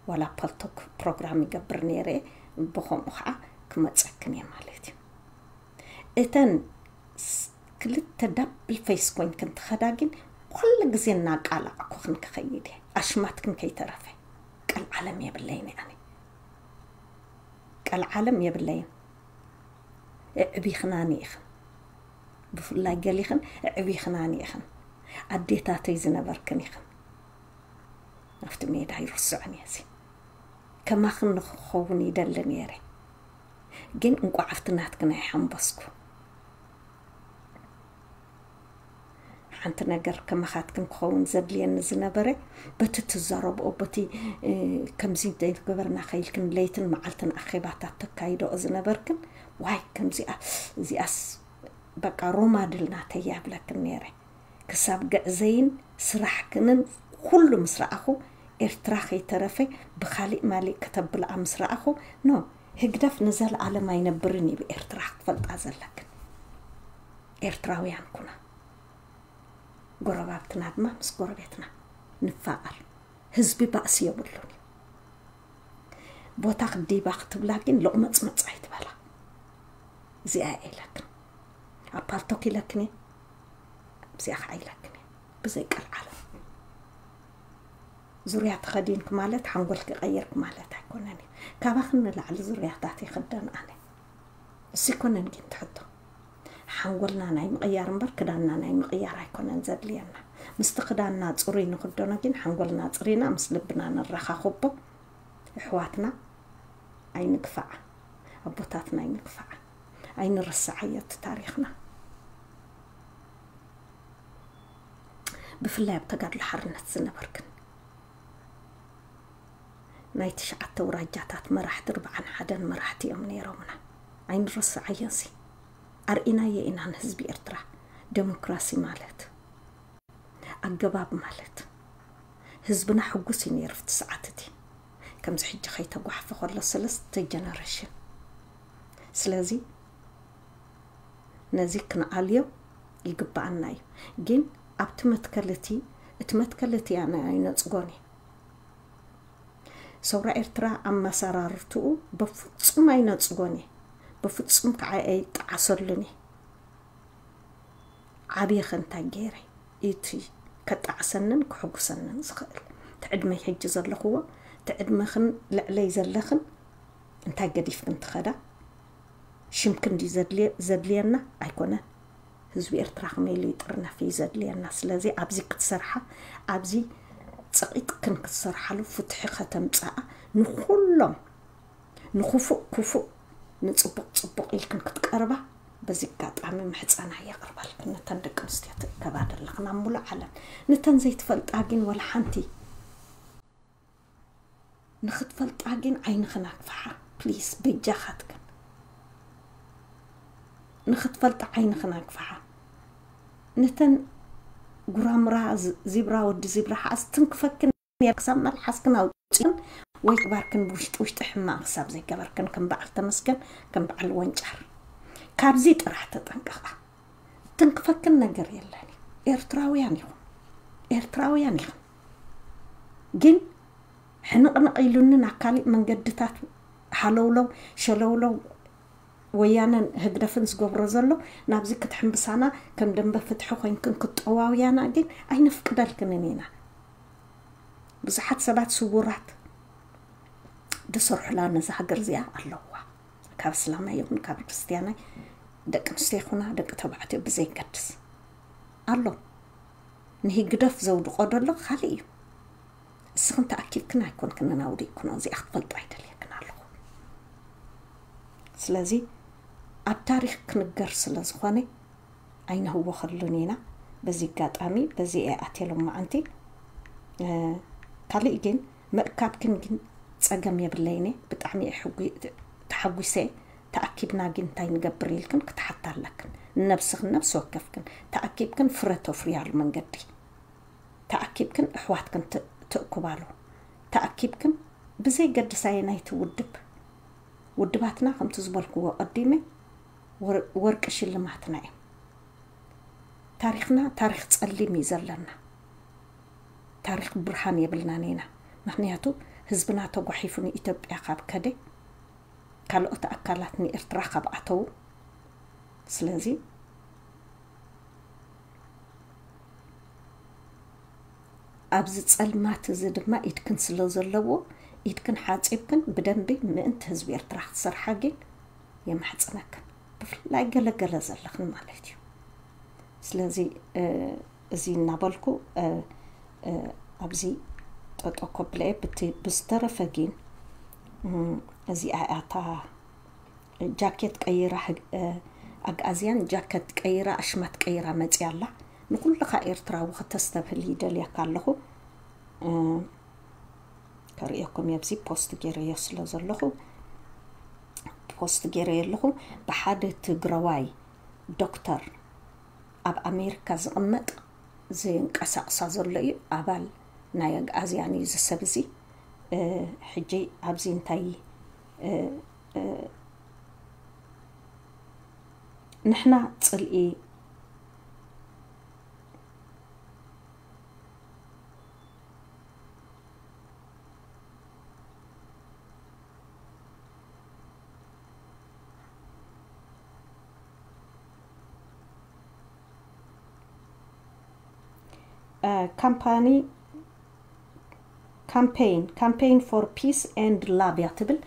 ዋላ ፓልቶክ ፕሮግራም ይገብር ነይረ፣ ብኸምኡ ከዓ ክመፀክን እየ ማለት እዩ። እተን ስ-፣ ክልተ ዳብል ፌስ ኮይንክን ትኸዳ ግን ኩሉ ግዜ እናቃላዕኩኽን ክኸይድ እየ። ኣሽማትክን ከይተረፈ ቀልዓለም የብለይን እየ ኣነ። ቀልዓለም የብለይን። ኣዕቢኽናኒ ኢኽን። ብፍላይ ገሊኽን ኣዕቢኽናኒ ኢኽን። ኣዴታተይ ዝነበርክን ኢኽን። ኣብቲ ሜዳ ይርስዖን እየ እዚ። ከማኽን ንኽኸውን ይደሊ ነይረ። ግን እንቋዕ ኣብቲ ናትክን ኣይሓንበስኩ። ሓንቲ ነገር ከማኻትክን ክኸውን ዘድልየኒ ዝነበረ፣ በቲ ትዛረብኦ፣ በቲ፣ እ፣ ከምዚ እንተይትገበርና ከይልክን ለይትን መዓልትን ኣኼባታት ተካይደኦ ዝነበርክን፣ ዋይ፣ ከምዚኣ፣ እዚኣስ በቃ ሮማድል ናተይ እያ እብለክን ነይረ። ክሳብ ግዕዘይን ስራሕክንን ኩሉ ምስ ረኣኹ፣ ኤርትራ ከይተረፈ ብኻሊእ ማሊእ ከተብልኣ ምስ ረኣኹ፣ ኖ፣ ህግደፍ ንዘለኣለም ኣይነብርን እዩ ብኤርትራ ክትፈልጣ ዘለክን። ኤርትራውያን ኩና። ጎረባብትና ድማ ምስ ጎረቤትና ንፋቐር። ህዝቢ ባእሲ የብሉን እዩ። ቦታ ክዲባ ክትብላ ግን ሎቕመጽመጽ ኣይትበላ። እዚኣ እየ ኢለክን። ኣብ ፓልቶክ ኢለክን እየ፣ ኣብዚኣ ከዓ ኢለክን እየ። ብዘይ ቀልዓለም ዙርያ ተኸዲንክ ማለት ሓንጎልክ ቀይርክ ማለት ኣይኮነን እዩ። ካባኽን ንላዕሊ ዙርያታት ይኽደን ኣነ። እሱ ኣይኮነን ግን ትሕቶ። ሓንጎልና ናይ ምቕያር እምበር ክዳንና ናይ ምቕያር ኣይኮነን ዘድልየና። ምስቲ ክዳንና ጽሩይ ንኽደኖ ግን ሓንጎልና ጽሪና ምስ ልብና ነራኻኽቦ። ኣሕዋትና ኣይንግፋዓ፣ ኣቦታትና ኣይንግፋዓ፣ ኣይንረስዓዮ እቲ ታሪኽና። ብፍላይ ኣብ ተጋድሎ ሓርነት ዝነበርክን ናይ ትሽዓተ ውራጃታት መራሕቲ፣ ርብዓን ሓደን መራሕቲ እዮም ነይሮምና። ኣይንረስዓዮ እዚ። ኣርኢናዮ ኢና ንህዝቢ ኤርትራ ደሞክራሲ ማለት ኣገባብ ማለት። ህዝብና ሕጉስ እዩ ነይሩ ኣብቲ ሰዓት እቲ፣ ከምዚ ሕጂ ከይተጓሕፈ ከሎ ሰለስተ ጀነሬሽን። ስለዚ ነዚ ክንኣልዮ ይግብኣና እዩ። ግን ኣብቲ መትከል እቲ፣ እቲ መትከል እቲ ኣነ ኣይነጽጎን እየ። ሰውራ ኤርትራ ኣመሰራርትኡ በፍጹም ኣይነጽጎን እየ፣ በፍጹም ከዓ ኣይጠዓሰሉን እየ። ዓብየ ከ እንታይ ገይረ እቲ ከጣዕሰንን ክሕጉሰንን ዝኽእል? እቲ ዕድመይ ሕጂ ዘለኽዎ፣ እቲ ዕድመኽን ልዕለይ ዘለኽን እንታይ ገዲፍክን ትኸዳ? ሽምክን ድዩ ዘድልየ-፣ ዘድልየና? ኣይኮነን። ህዝቢ ኤርትራ ከመይ ኢሉ ይጥርነፍ እዩ ዘድልየና። ስለዚ ኣብዚ ክትሰርሓ፣ ኣብዚ ጸቒጥክን ክትሰርሓሉ፣ ፍትሒ ከተምጽኣ፣ ንኹሎም፣ ንክፉእ ክፉእ፣ ንጽቡቕ ጽቡቕ ኢልክን ክትቀርባ በዚ ኣጋጣሚ ምሕጸና የቕርበልክን። ነተን ደቂ ኣንስትዮ ትእከባ ዘለኽን ኣብ ሙሉእ ዓለም፣ ነተን ዘይትፈልጣ ግን ወላ ሓንቲ ንኽትፈልጣ ግን ዓይንኽን ኣግፍሓ ፕሊስ፣ በጃኻትክን። ንኽትፈልጣ ዓይንኽን ኣግፍሓ። ነተን ጉራምራ ዝ-፣ ዚብራ፣ ወዲ ዚብራ ሓዝ ትንክፈክን እያ፣ ክሳብ መልሓስክን ኣውፅእን ወይ ግባርክን ብውሽጢ ውሽጢ ሕማቕ ክሳብ ዘይገበርክን ከም በዓል ተመስገን፣ ከም በዓል ወንጫር። ካብዚ ጥራሕ ተጠንቀቓ። ትንክፈክን ነገር የለን። ኤርትራውያን ኢኹም፣ ኤርትራውያን ኢኹም። ግን ሕንቕንቕ ኢሉኒ ናብ ካሊእ መንገድታት ሃለውለው ሸለውለው ወያነን ህግደፍን ዝገብሮ ዘሎ ናብዚ ክትሕምብሳና ከም ደንበ ፍትሒ ኮይንክን ክትጠዋውያና ግን ኣይነፍቅደልክንን ኢና። ብዙሓት ሰባት ስውራት ዝሰርሑላ ነዛ ሃገር እዚኣ ኣለዋ። ካብ እስላማይ ይኹን ካብ ክርስትያናይ፣ ደቂ ኣንስትዮ ይኹና ደቂ ተባዕትዮ ብዘይገድስ ኣሎ። ንህግደፍ ዘውድቆ ዘሎ ካልእ እዩ። እስኽን ተኣኪብክን ኣይኮንክንን ኣውዲቕክኖ፣ እዚኣ ክትፈልጣ ኣይደልየክን ኣለኹ። ስለዚ ኣብ ታሪኽ ክንገር ስለ ዝኾነ ኣይነህወኸሉን ኢና። በዚ ኣጋጣሚ በዚ እየ ኣትየ ሎማዓንቲ። እ፣ ካልእ ግን ምእካብክን ግን ጸገም የብለይን እየ። ብጣዕሚ እየ ሕጉ-፣ ተሓጒሰ። ተኣኪብና ግን እንታይ ንገብር ኢልክን ክትሓታ ኣለክን። ንነብስኽን ነብሲ ወከፍክን ተኣኪብክን ፍረ ተፍርያሉ መንገዲ። ተኣኪብክን ኣሕዋትክን ት-፣ ትእኩባሉ። ተኣኪብክን ብዘይ ገድስ ኣየናይቲ ውድብ። ውድባትና ከምቲ ዝበልክዎ ቀዲመ ወር-፣ ወርቂ ሽልማትና እዮም። ታሪኽና ታሪኽ ጸሊም እዩ ዘለና። ታሪኽ ብርሃን የብልናን ኢና። ምኽንያቱ ህዝብና ተጓሒፉ ንኢትዮጵያ ካብ ከደ፣ ካልኦት ኣካላት ንኤርትራ ካብ ኣተዉ፣ ስለዚ ኣብዚ ጸልማት እዚ ድማ ኢድክን ስለ ዘለዎ፣ ኢድክን ሓጺብክን ብደንቢ ምእንቲ ህዝቢ ኤርትራ ክትሰርሓ ግን የማሕጽነክን። ብፍላይ ገለገለ ዘለኽን ማለት እዩ። ስለዚ፣ እ፣ እዚ እናበልኩ፣ እ፣ እ፣ ኣብዚ ጠጠው ከብለ እየ። ብቲ-፣ ብዝተረፈ ግን፣ እም፣ እዚኣ እያ እታ ጃኬት ቀይራ፣ ህግ-፣ እ፣ ኣግኣዝያን ጃኬት ቀይራ፣ ኣሽማት ቀይራ መፅያ ኣላ። ንኩልኻ ኤርትራዊ ክተስተብህል ይደልየካ ኣለኹ። እ፣ ከርእየኩም እየ፣ ኣብዚ ፖስት ገይረዮ ስለ ዘለኹ፣ ፖስት ገይረዮ ኣለኹ። ብሓደ ትግራዋይ ዶክተር ኣብ ኣሜሪካ ዝቕመጥ ዘንቀሳቕሳ ዘሎ እዩ። ኣባል ናይ ኣግኣዝያን እዩ እዚ ሰብ እዚ። እ፣ ሕጂ ኣብዚ እንታይ፣ እ፣ እ፣ ንሕና ጽልኢ ካምፓኒ campaign campaign for peace and love እያ ትብል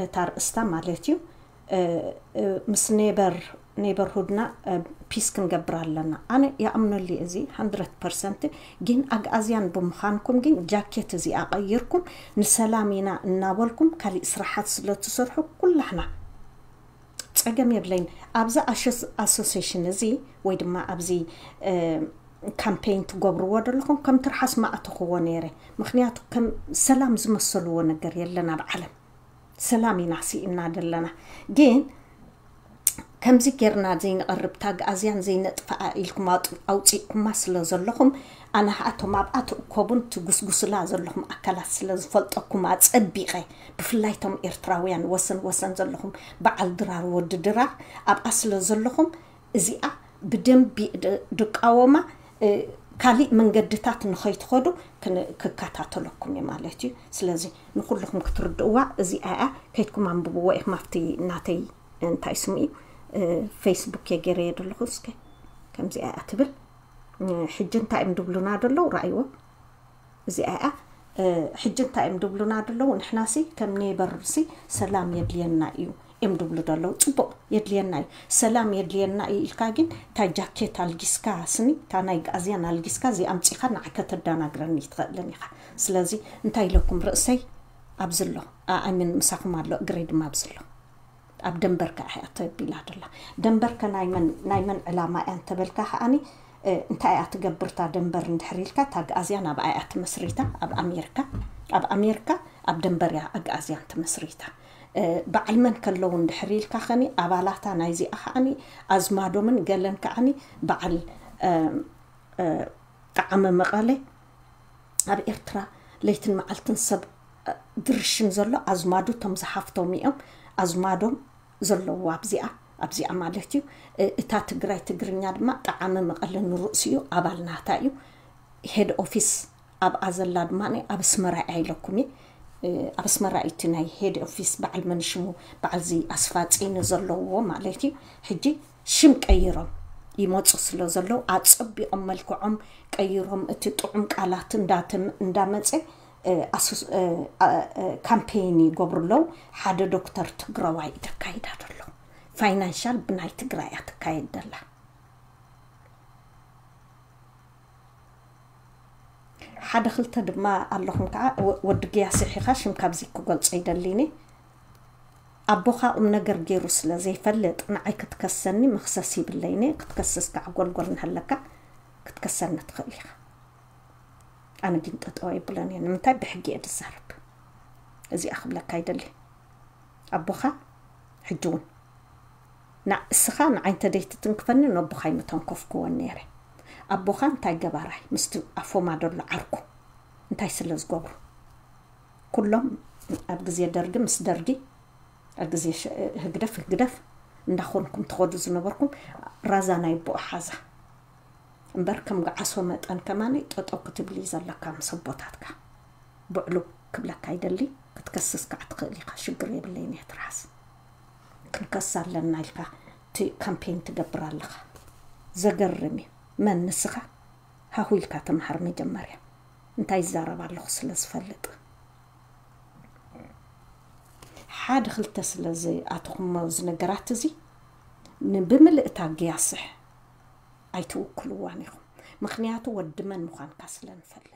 እታ ርእስታ ማለት እዩ። ምስ ኔበር ኔበርሁድና ፒስ ክንገብር ኣለና። ኣነ ይኣምነሉ እዚ hundred percent። ግን ኣግኣዝያን ብምዃንኩም ግን ጃኬት እዚኣ ቀይርኩም ንሰላም ኢና እናበልኩም ካሊእ ስራሓት ስለ ትሰርሑ ኩላሕና ጸገም የብለይን። ኣብዚ ኣሶሴሽን እዚ ወይ ድማ ኣብዚ ካምፔን ትገብርዎ ዘለኹም ከም ትርሓስ ማእተኽዎ ነይረ። ምክንያቱ ከም ሰላም ዝመሰልዎ ነገር የለን ኣብ ዓለም። ሰላም ኢና ስኢና ዘለና። ግን ከምዚ ጌርና ዘይንቐርብ ታግ ኣዝያን ዘይነጥፍኣ ኢልኩም ኣውፅ- ኣውፂእኩማ ስለ ዘለኹም ኣነ ኸኣቶም ኣብኣ ትእከቡን ትጉስጉስላ ዘለኹም ኣካላት ስለ ዝፈልጠኩም ኣፀቢቐ ብፍላይ ቶም ኤርትራውያን ወሰን ወሰን ዘለኹም በዓል ድራር ወዲ ድራር ኣብኣ ስለ ዘለኹም እዚኣ ብደንቢ ድ- ድቃወማ እ፣ ካሊእ መንገድታት ንኸይትኸዱ ክን- ክከታተለኩም እዩ ማለት እዩ። ስለዚ ንኩልኹም ክትርድእዋ እዚኣ እያ። ከይድኩም ኣንብብዎ ኢኹም ኣብቲ ናተይ እንታይ ስሙ እዩ እ፣ ፌስቡክ እየ ገይረየ ዘለኹ። እስከ ከምዚኣ እያ ትብል እ፣ ሕጂ እንታይ እዮም ድብሉና ደለዉ ረኣይዎ። እዚኣ እያ እ፣ ሕጂ እንታይ እዮም ድብሉና ደለዉ። ንሕናሲ ከም ኔበርሲ ሰላም የድልየና እዩ እዮም ድብሉ ደለዉ። ፅቡቕ የድልየና እዩ ሰላም የድልየና እዩ ኢልካ ግን እታ ጃኬት ኣልጊስካ ስኒ እታ ናይ ጋእዝያን ኣልጊስካ እዚ ኣምፂኻ ንዓ ከተዳናግረኒ ትኽእልን ኢኻ። ስለዚ እንታይ ኢለኩም ርእሰይ ኣብዚ ኣሎ ኣኣምን ምሳኹም ኣሎ እግረይ ድማ ኣብዚ ኣሎ። ኣብ ደንበር ከኣ እያ ተቢላ ደላ። ደንበርከ ናይ መን ናይ መን ዕላማ እያ እንተበልካ ከኣኒ እ፣ እንታይ እያ ትገብር እታ ደንበር እንድሕር ኢልካ እታ ኣግኣዝያን ኣብኣ እያ ትመስሪታ ኣብ ኣሜሪካ ኣብ ኣሜሪካ ኣብ ደንበር እያ ኣግኣዝያን ትመስሪታ እ፣ በዓል መን ከለዉ እንድሕር ኢልካ ኸኒ ኣባላታ ናይዚኣ ከዓኒ ኣዝማዶምን ገለን ከዓኒ በዓል እ፣ እ፣ ጠዓመ መቐለ ኣብ ኤርትራ ለይትን መዓልትን ሰብ ድርሽም ዘሎ ኣዝማዱ እቶም ዝሓፍቶም እዮም ኣዝማዶም ዘለዎ ኣብዚኣ ኣብዚኣ ማለት እዩ እታ ትግራይ ትግርኛ ድማ ጠዓመ መቐለ ንርእሲኡ ኣባል ናታ እዩ ሄድ ኦፊስ ኣብኣ ዘላ ድማ ኣብ ኣስመራ እያ ኢለኩም እየ ኣብ ኣስመራ እዩ እቲ ናይ ሄድ ኦፊስ በዓል መንሽሙ በዓልዚ ኣስፋፂኒ ዘለዎ ማለት እዩ ሕጂ ሽም ቀይሮም ይመፁ ስለ ዘለዉ ኣፀቢቖም መልክዖም ቀይሮም እቲ ጥዑም ቃላት እንዳመፀ ካምፔይን ይገብሩ ኣለዉ ሓደ ዶክተር ትግራዋይ እዩ ተካይዳ ዘሎ ፋይናንሻል ብናይ ትግራይ እያ ትካየድ ደላ ሓደ ክልተ ድማ ኣለኹም ከዓ ወዲ ግያስሕ ኢኻ ሽም ካብዚ ክገልጾ ይደሊኒ ኣቦኻ ቁም ነገር ገይሩ ስለ ዘይፈልጥ ንዓይ ክትከሰኒ መኽሰስ ይብለይኒ ክትከስስ ከዓ ጎልጎል እንሃለካ ክትከሰኒ ትኽእል ኢኻ ኣነ ግን ጠጠው ኣይብለን እየ ንምንታይ ብሕጊ እየ ዝዛረብ እዚኣ ክብለካ ይደሊ ኣቦኻ ሕጂ እውን እስኻ ንዓይ እንተደይትትንክፈኒ ነቦኻ ኣይምተንከፍክዎን ነይረ ኣቦኻ እንታይ ገባራይ ምስቲ ኣፎማ ደሎ ዓርኩ እንታይ ስለ ዝገብሩ ኩሎም ኣብ ግዜ ደርጊ ምስ ደርጊ ኣብ ግዜ ህግደፍ ህግደፍ እንዳኾንኩም ትኸዱ ዝነበርኩም ራዛ ናይ ኣቦኡ ሓዛ እምበር ከም ገዓሶ መጠን ከማነይ ጠጠው ክትብል እዩ ዘለካ ምስ ኣቦታትካ ብዕሉ ክብለካ ይደሊ ክትከስስ ከዓ ትኽእል ኢኻ ሽግር የብለይን እየ ትርሓስ ክንከስ ኣለና ኢልካ እቲ ካምፔን ትገብር ኣለኻ ዘገርም እዩ መን ንስኻ ሃሁ ኢልካ ተምሃር መጀመርያ እንታይ ይዛረብ ኣለኹ ስለ ዝፈልጥ ሓደ ክልተ ስለ ዝኣተኹሞ እዚ ነገራት እዚ ብምልእታ ግያስሕ ኣይትውክልዋን ኢኹም ምኽንያቱ ወዲ መን ምዃንካ ስለ ንፈልጥ